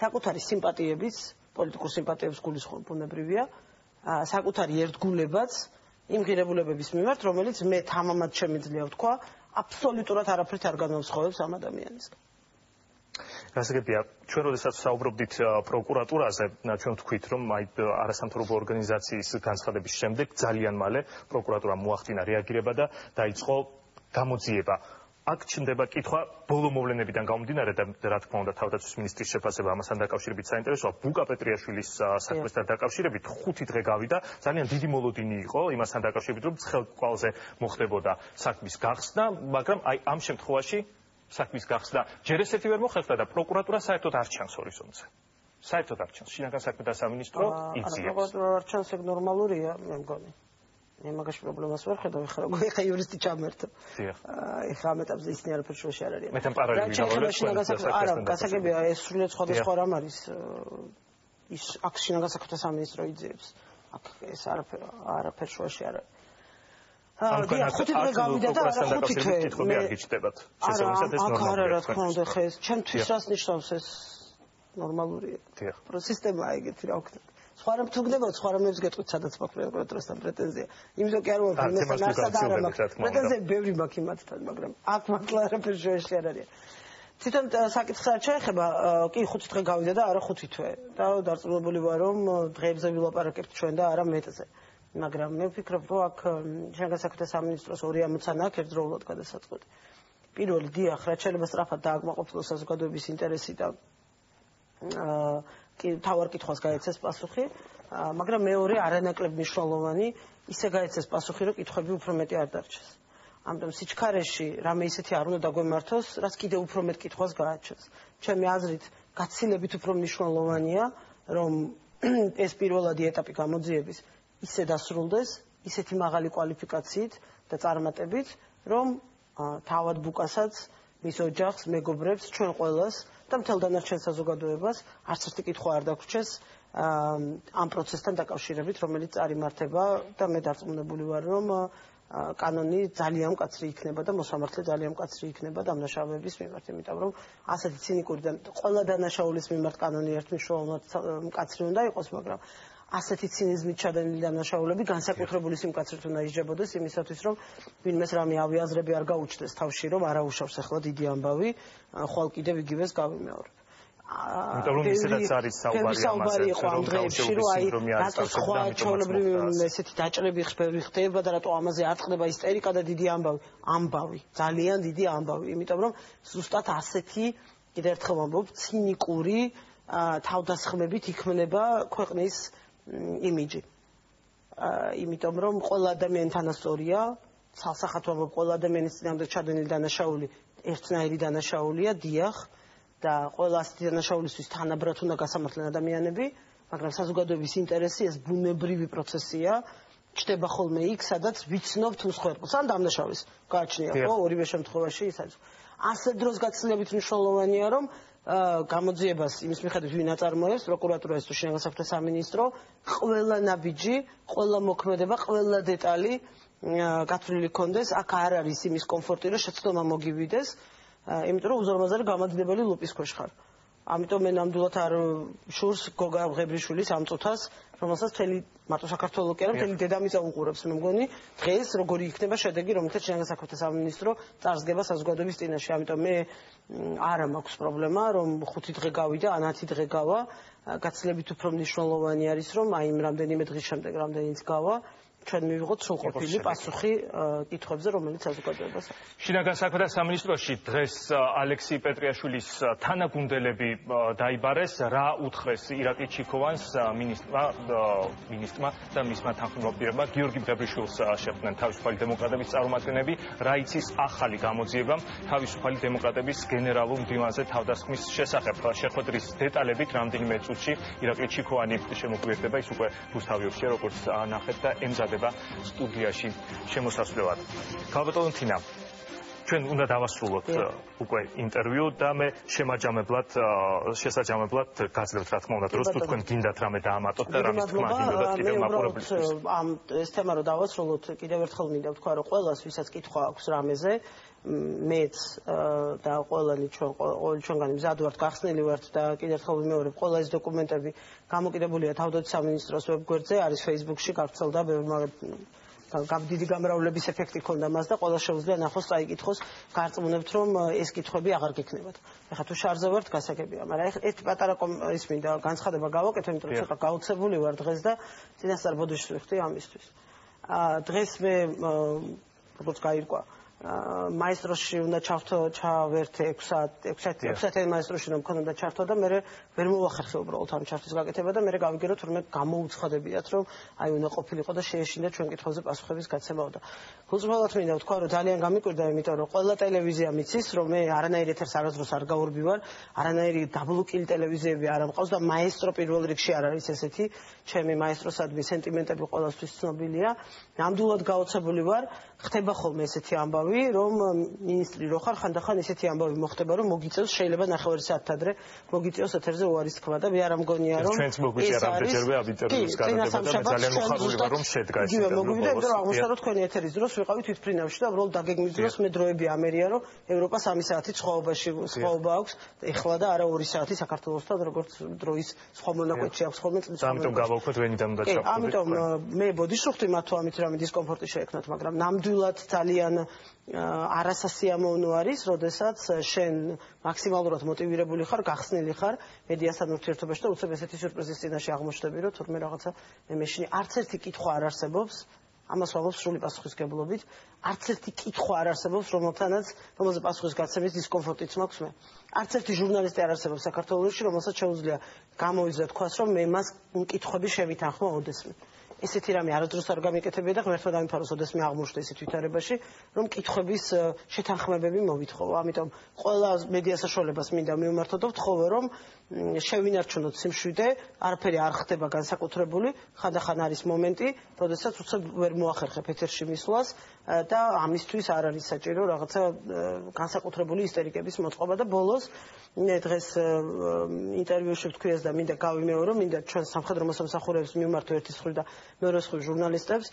საკუთარი სიმპათიებიც, პოლიტიკურ სიმპათიებს გულისხმობ ბუნებრივია, საკუთარი ერთგულებაც იმ ღირებულებების მიმართ, რომელიც მე თამამად შემიძლია ვთქვა, აბსოლუტურად არაფრით არ განვსხვავებს ამ ადამიანისგან. გასაგებია, ჩვენ როდესაც საუბრობდით პროკურატურაზე, ჩვენ ვთქვით, რომ აი არასამთავრობო ორგანიზაციის განცხადების შემდეგ ძალიან მალე პროკურატურამ მოახდინა რეაგირება და დაიწყო გამოძიება. აქ ჩნდება კითხვა ბოლო მოვლენებიდან გამომდინარე და რა თქმა უნდა თავდაცვის მინისტრის შეფასება ამასთან დაკავშირებით საინტერესოა. ბუკა პეტრიაშვილის საქმესთან დაკავშირებით 5 დღე გავიდა, ძალიან დიდი მოლოდინი იყო იმასთან დაკავშირებით, რომ ცხელკვალზე მოხდებოდა საქმის გახსნა, მაგრამ აი ამ შემთხვევაში საქმის გახსნა ჯერ ესეთი ვერ მოხერხდა და პროკურატურა საერთოდ არ ჩანს ჰორიზონტზე. საერთოდ არ ჩანს. შინაგან საქმეთა სამინისტრო იძიებს. პროკურატურა არ ჩანს, ეგ ნორმალურია, მე მგონი. მე მაგაში პრობლემას ვერ ხედავ, ეხლა იურისტი ჩამერთო. ეხლა ამ ეტაპზე ისინი არაფერ შუაში არ არიან. მეთან პარალელურად არა, გასაგებია ეს სრულიად სხვადასხვა რამ არის. ის აქ შინაგან საქმეთა სამინისტრო იძიებს. აქ ეს არაფერ შუაში არ არის. ხუთი დღე გავიდა და არა 5 თვე. კითხები არ გიჩნდებათ. შესაბამისად ეს ნორმალურია. არა, რა თქმა უნდა, ხე ეს ჩემთვის რას ნიშნავს ეს ნორმალურია. სისტემაა ეგეთი რა ვქნა. სხვა რამ თუ გდებოდ, სხვა რამებს გეტყვით, სადაც მაქვს პროკურატურასთან პრეტენზია. იმიტომ კი არ ვარ იმასთან არსად არ მაქვს. პრეტენზიები ბევრი მაქვს იმათთან, მაგრამ აქ მართლა არაფერ შუაში არ არის. თვითონ საკითხს არ ჩაეხება, კი 5 დღე გავიდა და არა 5 თვე. და დარწმუნებული ვარ, რომ დღეებზე ვილაპარაკებთ ჩვენ და არა მეტზე. მაგრამ მე ვფიქრობ, რომ აქ შინაგან საქმეთა სამინისტროს ორი ამოცანა აქვს ერთდროულად გადასაწყვეტი. პირველი, დიახ, რაც შეიძლება სწრაფად დააკმაყოფილოს საზოგადოების ინტერესი და თავარ კითხვას გაეცეს პასუხი, მაგრამ მეორე არანაკლებ მნიშვნელოვანი, ისე გაეცეს პასუხი, რომ კითხვები უფრო მეტი არ დარჩეს. ამიტომ სიჩქარეში რამე ისეთი არ უნდა დაგვემართოს, რაც კიდევ უფრო მეტ კითხვას გააჩენს. ჩემი აზრით, გაცილებით უფრო მნიშვნელოვანია, რომ ეს პირველადი ეტაპი გამოძიების ისე დასრულდეს, ისეთი მაღალი კვალიფიკაციით და წარმატებით, რომ თავად ბუკასაც, მის ოჯახს, მეგობრებს, ჩვენ ყველას და მთელ დანარჩენ საზოგადოებას არც ერთი კითხვა არ დაგვრჩეს ამ პროცესთან დაკავშირებით, რომელიც წარიმართება და მე დარწმუნებული ვარ, რომ კანონი ძალიან მკაცრი იქნება და მოსამართლე ძალიან მკაცრი იქნება დამნაშავეების მიმართ, იმიტომ რომ ასეთი ცინიკური და ყველა დანაშაულის მიმართ კანონი ერთმნიშვნელოვნად მკაცრი უნდა იყოს, მაგრამ ასეთი ცინიზმით ჩადენილი დანაშაულები განსაკუთრებული სიმკაცრით უნდა ისჯებოდეს იმისათვის, რომ ვინმეს რამე ავიაზრები არ გაუჩნდეს თავში, რომ არაუშავს ახლა დიდი ამბავი, ხვალ კიდევ იგივეს გავიმეორებ. იმიტომ რომ ისედაც არის საუბარი იყო ამ დღეებში, რომ აი რატო სხვა ჩვეულებრივი ესეთი დაჭრები ხდება და რატო ამაზე არ ხდება ისტერიკა და დიდი ამბავი, ძალიან დიდი ამბავი, იმიტომ რომ ზუსტად ასეთი კიდევ ერთხელ ვამბობ, ცინიკური თავდასხმებით იქმნება ქვეყნის იმიჯი. იმიტომ რომ ყველა ადამიანი თანასწორია, ცალსახად ვამბობ, ყველა ადამიანის წინააღმდეგ ჩადენილი დანაშაული ერთნაირი დანაშაულია, დიახ, და ყველა ასეთი დანაშაულისთვის თანაბრად უნდა გასამართლენ ადამიანები, მაგრამ საზოგადოების ინტერესი ეს ბუნებრივი პროცესია, ჩდება ხოლმე იქ, სადაც ვიცნობთ მსხვერპლს ან დამნაშავის გააჩნია, ხო, ორივე შემთხვევაში ის არის. ასეთ დროს გაცილებით მნიშვნელოვანია, რომ გამოძიებას იმის მიხედვით ვინ აწარმოებს, პროკურატურა თუ შინაგან საქმეთა სამინისტრო, ყველა ნაბიჯი, ყველა მოქმედება, ყველა დეტალი გათვლილი ქონდეს, აქ არ არის იმის კომფორტი, რომ შეცდომა მოგივიდეს, იმიტომ რომ უზარმაზარი გამადიდებელი ლუპის ქვეშ ხარ. ამიტომ მე ნამდვილად არ შურს გოგა ღებრიშვილის ამ წუთას, რომელსაც მთელი მარტო საქართველოს კი არა, მთელი დედამიწა უყურებს, მე მგონი, დღეს როგორი იქნება შედეგი, რომელთაც შინაგან საქმეთა სამინისტრო წარსდგება საზოგადოების წინაშე. ამიტომ მე არა მაქვს პრობლემა, რომ 5 დღე გავიდა, ან 10 დღე გავა, გაცილებით უფრო მნიშვნელოვანი არის, რომ აი იმ რამდენიმე დღის შემდეგ რამდენიც გავა, ჩვენ მივიღოთ სრულყოფილი პასუხი კითხვებზე, რომელიც საზოგადოებას აქვს. შინაგან საქმეთა სამინისტროში დღეს ალექსი პეტრიაშვილის თანაგუნდელები დაიბარეს. რა უთხრეს ირაკლი ჩიქოვანს მინისტრმა და მისმა თანხმოვანმა გიორგი ბრებრიშვილს შეხვდნენ თავისუფალი დემოკრატების წარმომადგენლები. რა იცის ახალი გამოძიება თავისუფალი დემოკრატების გენერალურ მდივანზე თავდასხმის შესახებ. შეხვედრის დეტალებით რამდენიმე წუთში ირაკლი ჩიქოვანი შემოგვიერთდება, ის უკვე რუსთავიორში როგორც ნახეთ და ემზადება სტუდიაში შემოსასვლელად. ქალბატონო თინა, ჩვენ უნდა დავასრულოთ უკვე ინტერვიუ და მე შესაჯამებლად გაძლევთ რა თქმა უნდა დროს თუ თქვენ გინდათ რამე დაამატოთ და რამის თქმა გინდათ კიდევ მაყურებლისთვის. ამ ეს თემა რომ დავასრულოთ, კიდევ ერთხელ მინდა ვთქვა, რომ ყველას ვისაც კითხვა აქვს რამეზე, მეც და ყველანი ჩვენგანი მზად ვართ, გახსნილი ვართ და კიდევ ერთხელ ვიმეორებ, ყველა ეს დოკუმენტები გამოკიდებულია თავდაცვის სამინისტროს ვებგვერდზე, არის Facebook-ში გავრცელდა დიდი გამრავლების ეფექტი ქონდა მას და ყველა შეუძლია ნახოს, წაიკითხოს, გარწმუნებთ რომ ეს კითხვები აღარ გექნებათ. ეხლა თუ შარზე ვართ, გასაგებია, მაგრამ ერთ პატარა ის მინდა განცხადება გავაკეთო, იმიტომ რომ ცოტა გაოცებული ვარ დღეს და წინასწარ ბოდიშს ვიხდი ამისთვის. დღეს მე როგორც გაირკვა მაესტროში უნდა ჩავერთე 6 მაესტროში რომ მქონდა ჩართვა და მე ვერ მოვახერხე უბრალოდ ამ ჩართვის გაკეთება და მე გავიგერო თურმე გამოუცხადებიათ რომ აი უნდა ყოფილიყო და შეეშინდა ჩვენ კითხვაზე პასუხების გაცემა და გულწრფელად მინდა ვთქვა რომ ძალიან გამიკვირდა იმიტომ რომ ყველა ტელევიზია მიცის რომ მე არანაირ ეთერს არასდროს არ გავურბი ვარ არანაირი დაბლოკილი ტელევიზიები არ ამყავს და მაესტრო პირველ რიგში არ არის ესეთი ჩემი მაესტროსადმი სენტიმენტები ყველასთვის ცნობილია ნამდვილად გაოცებული ვარ ხდება ხოლმე ესეთი ამბავი რომ მინისტრი რო ხარ ხანდახან ესეთი ამბავი მოხდება რომ მოგიწევს შეიძლება ნახევარი საათით ადრე მოგიწევს ეთერზე უარის თქვა და მე არ ამგონია რომ ჩვენც მოგვიწერა რამდენჯერმე ამ ინტერვიუს გარდა და ძალიან მოხარული ვარ რომ შედგა ეს ინტერვიუ მოგვიდა იმიტომ რომ აღმოჩნდა რომ თქვენი ეთერის დროს ვიყავით თვითფრინავში და უბრალოდ დაგეგმვის დროს მე დროები ამერია რომ ევროპა 3 საათით სხვაობა აქვს ეხლა და არა 2 საათი საქართველოსთან როგორც დროის სხვა მონაკვეთში აქვს ხოლმე წლის ამიტომ გავავხოთ ვენიდან უნდა ჩავხდებით ამიტომ მე ბოდიშუხდი მათ თუ ამით რამე დისკომფორტი შეექმნათ მაგრამ ნამდვილად ძალიან არასასიამოვნო არის, როდესაც შენ მაქსიმალურად მოტივირებული ხარ, გახსნილი ხარ მედიასთან ურთიერთობაში და უცებ ესეთი სიურპრიზის წინაშე აღმოჩნდები, რომ თურმე რაღაცა მეშინი არც ერთი კითხვა არ არსებობს, ამას ვამბობ სრული პასუხისგებლობით, არც ერთი კითხვა არ არსებობს, რომელზე პასუხის გაცემის დისკომფორტიც მაქვს მე. არც ერთი ჟურნალისტი არ არსებობს საქართველოში, რომელსაც შეუძლია გამოიძა თქვას, რომ მე მას კითხვები შევითანხმო ოდესმე. ესეთი რამე არასდროს არ გამიკეთებია და ღმერთმა დამიფაროს, ოდესმე აღმოჩნდა ისეთ ვითარებაში, რომ კითხვების შეთანხმებები მოვითხოვო. ამიტომ ყველა მედია საშუალებას მინდა მივმართო და ვთხოვო, რომ შევინარჩუნოთ სიმშვიდე, არაფერი არ ხდება განსაკუთრებული, ხანდახან არის მომენტი, როდესაც უცებ ვერ მოახერხებ ეთერში მისვლას და ამისთვის არ არის საჭირო რაღაცა განსაკუთრებული ისტერიკების მოწყობა და ბოლოს მე დღეს ინტერვიუში ვთქვიეს და მინდა გავიმეორო, მინდა ჩვენ სამხედრო მოსამსახურეებს მივმართო ერთის მხრივ და მეორე მხრივ ჟურნალისტებს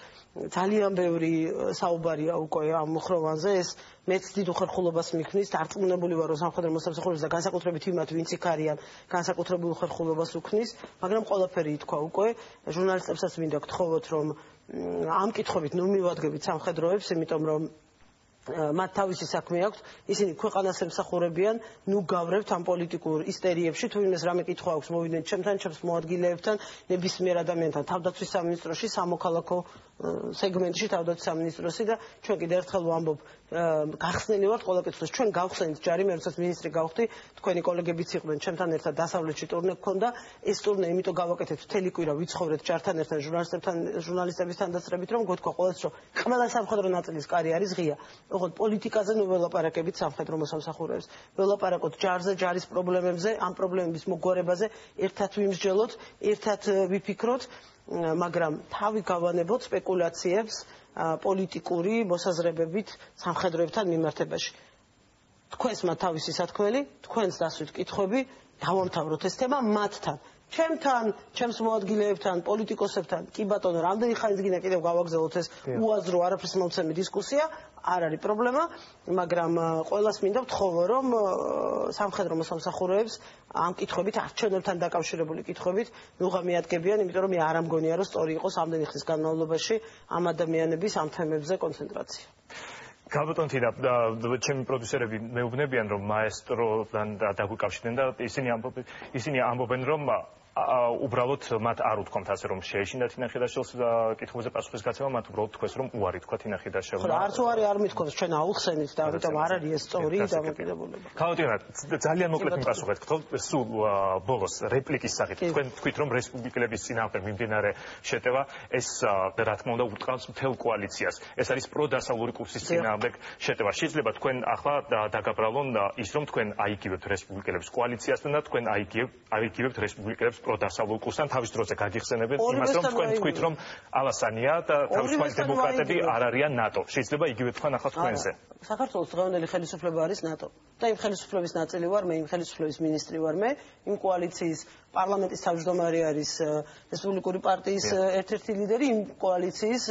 ძალიან ბევრი საუბარია უკვე ამ მოხროვანზე ეს მეც დიდ უხერხულობას მიქმნის დარწმუნებული ვარ რომ სამხედრო მოსამსახურეებს და განსაკუთრებით იმათ ვინც იქ არიან განსაკუთრებულ უხერხულობას უქმნის მაგრამ ყველაფერი ითქვა უკვე ჟურნალისტებსაც მინდა გთხოვოთ რომ ამ კითხვებით ნუ მივადგებით სამხედროებს იმიტომ რომ მათ თავისი საქმე აქვს ისინი ქვეყანას ემსახურებიან ნუ გავრევთ ამ პოლიტიკურ ისტერიებში თუ იმეს რამე კითხვა აქვს მოვიდნენ ჩემთან ჩემს მოადგილეებთან ნებისმიერ ადამიანთან თავდაცვის სამინისტროში სამოქალაქო სეგმენტში თავდაცვის სამინისტროსი და ჩვენ კიდევ ერთხელ ვამბობ გახსნილი ვართ ყველა კითხვის ჩვენ გავხსენით ჯარი მე როდესაც მინისტრი გავხდი თქვენი კოლეგებიც იყვნენ ჩემთან ერთად დასავლეთში ტურნე გქონდა ეს ტურნე იმიტომ გავაკეთეთ მთელი კვირა ვიცხოვრეთ ჯართან ერთად ჟურნალისტებთან დასწრებით რომ გთქვა ყველას რომ ყველა სამხედრო ნაწილის კარი არის ღია ოღონდ პოლიტიკაზე ნუ ველაპარაკებით სამხედრო მოსამსახურეებს ველაპარაკოთ ჯარზე ჯარის პრობლემებზე ამ პრობლემების მოგვარებაზე ერთად ვიმსჯელოთ ერთად ვიფიქროთ მაგრამ თავი გავანებოთ სპეკულაციებს პოლიტიკური მოსაზრებებით სამხედროებთან მიმართებაში. თქვენს მათ თავისი სათქმელი, თქვენს დასვით კითხვები, დავამთავროთ ეს თემა მათთან. ჩემთან, ჩემს მოადგილეებთან, პოლიტიკოსებთან, კი ბატონო, რამდენი ხანიც გინდა კიდევ გავაგზავნოთ ეს უაზრო არაფერს მომცემი დისკუსია, არ არის პრობლემა, მაგრამ ყველას მინდა ვთხოვო, რომ სამხედრო მოსამსახურეებს ამ კითხვებით არჩევნებთან დაკავშირებული კითხვებით ნუღა მიადგებიან, იმიტომ რომ მე არ ამგონია, რომ სწორი იყოს ამდენი ხნის განმავლობაში ამ ადამიანების ამ თემებზე კონცენტრაცია. Kalbaton თინა ჩემი პროდიუსერები მეუბნებიან რომ მაესტროდან დაგვიკავშირდნენ და ისინი ამბობენ რომ უბრალოდ მათ არ უთქვამთ ასე რომ შეეშინდათ ინახიდაშვილს კითხვებზე პასუხის გაცემა მათ უბრალოდ თქვეს რომ უარი თქვათ ინახიდაშვილმა. ხო არც უარი არ მithქვას ჩვენ აუხსენით და ამიტომ არ არის ეს სწორი დამოკიდებულება. Kalbaton ძალიან მოკლედ მიპასუხეთ სულ ბოლოს რეპლიკის სახით თქვენ თქვით რომ რესპუბლიკელების წინააღმდეგ მიმდინარე შეტევა ეს რა თქმა უნდა უტყავს მთელ კოალიციას. ეს არის პროდასავლური კურსის წინააღმდეგ შეტევა. შეიძლება თქვენ ახლა დაგაბრალონ ის რომ თქვენ აიგივებთ რესპუბლიკელების კოალიციასთან და თქვენ აიგივებთ რესპუბლიკელებს პროდასავლურ კურსთან თავის დროზე გაგიხსენებენ იმას რომ თქვენ თქვით რომ ალასანია და თავისუფალი დემოკრატები არ არიან ნატო. შეიძლება იგივე თქვენ ახლა თქვენზე. საქართველოს დღევანდელი ხელისუფლება არის ნატო და იმ ხელისუფლების ნაწილი ვარ მე, იმ ხელისუფლების მინისტრი ვარ მე, იმ კოალიციის პარლამენტის თავმჯდომარე არის რესპუბლიკური პარტიის ერთ-ერთი ლიდერი, იმ კოალიციის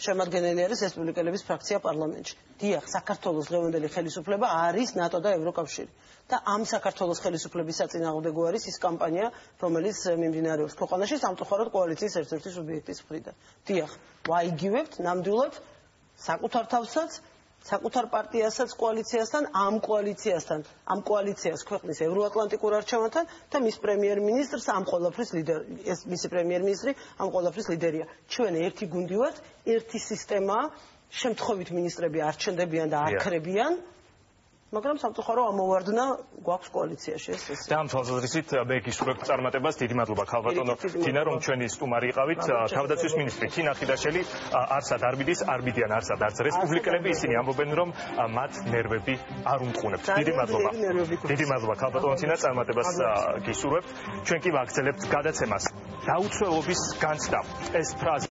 შემადგენელი არის რესპუბლიკელების ფრაქცია პარლამენტში. დიახ, საქართველოს დღევანდელი ხელისუფლება არის ნატო და ევროკავშირი. და ამ საქართველოს ხელისუფლების საწინააღმდეგო არის ის კამპანია, რომელიც მიმდინარეობს ქვეყანაში სამწუხაროდ კოალიციის ერთ-ერთი სუბიექტის მხრიდან. დიახ, ვაიგივებთ ნამდვილად საკუთარ თავსაც, საკუთარ პარტიასაც კოალიციასთან, ამ კოალიციას ქვეყნის ევროატლანტიკურ არჩევანთან და მის პრემიერ-მინისტრს ამ ყველაფრის ლიდერი, ეს მისი პრემიერ-მინისტრი ამ ყველაფრის ლიდერია. ჩვენ ერთი გუნდი ვართ, ერთი სისტემაა, შემთხვევით მინისტრები არ ჩნდებიან და არ ქრებიან. მაგრამ სამწუხარო ამოვარდნა გვაქვს კოალიციაში ეს. და ამ თვალსაზრისით მე გისურვებ წარმატებას. დიდი მადლობა ქალბატონო თინა რომ ჩვენი სტუმარი იყავით. თავდაცვის მინისტრი თინა ხიდაშელი არსად არ მიდის, არ მიდიან არსად არც რესპუბლიკელები, ისინი ამბობენ რომ მათ ნერვები არ უმტყუნებთ. დიდი მადლობა ქალბატონო თინა, წარმატებას გისურვებთ. ჩვენ კი ვაგრძელებთ გადაცემას. დაუცველობის განცდა. ეს ფრაზა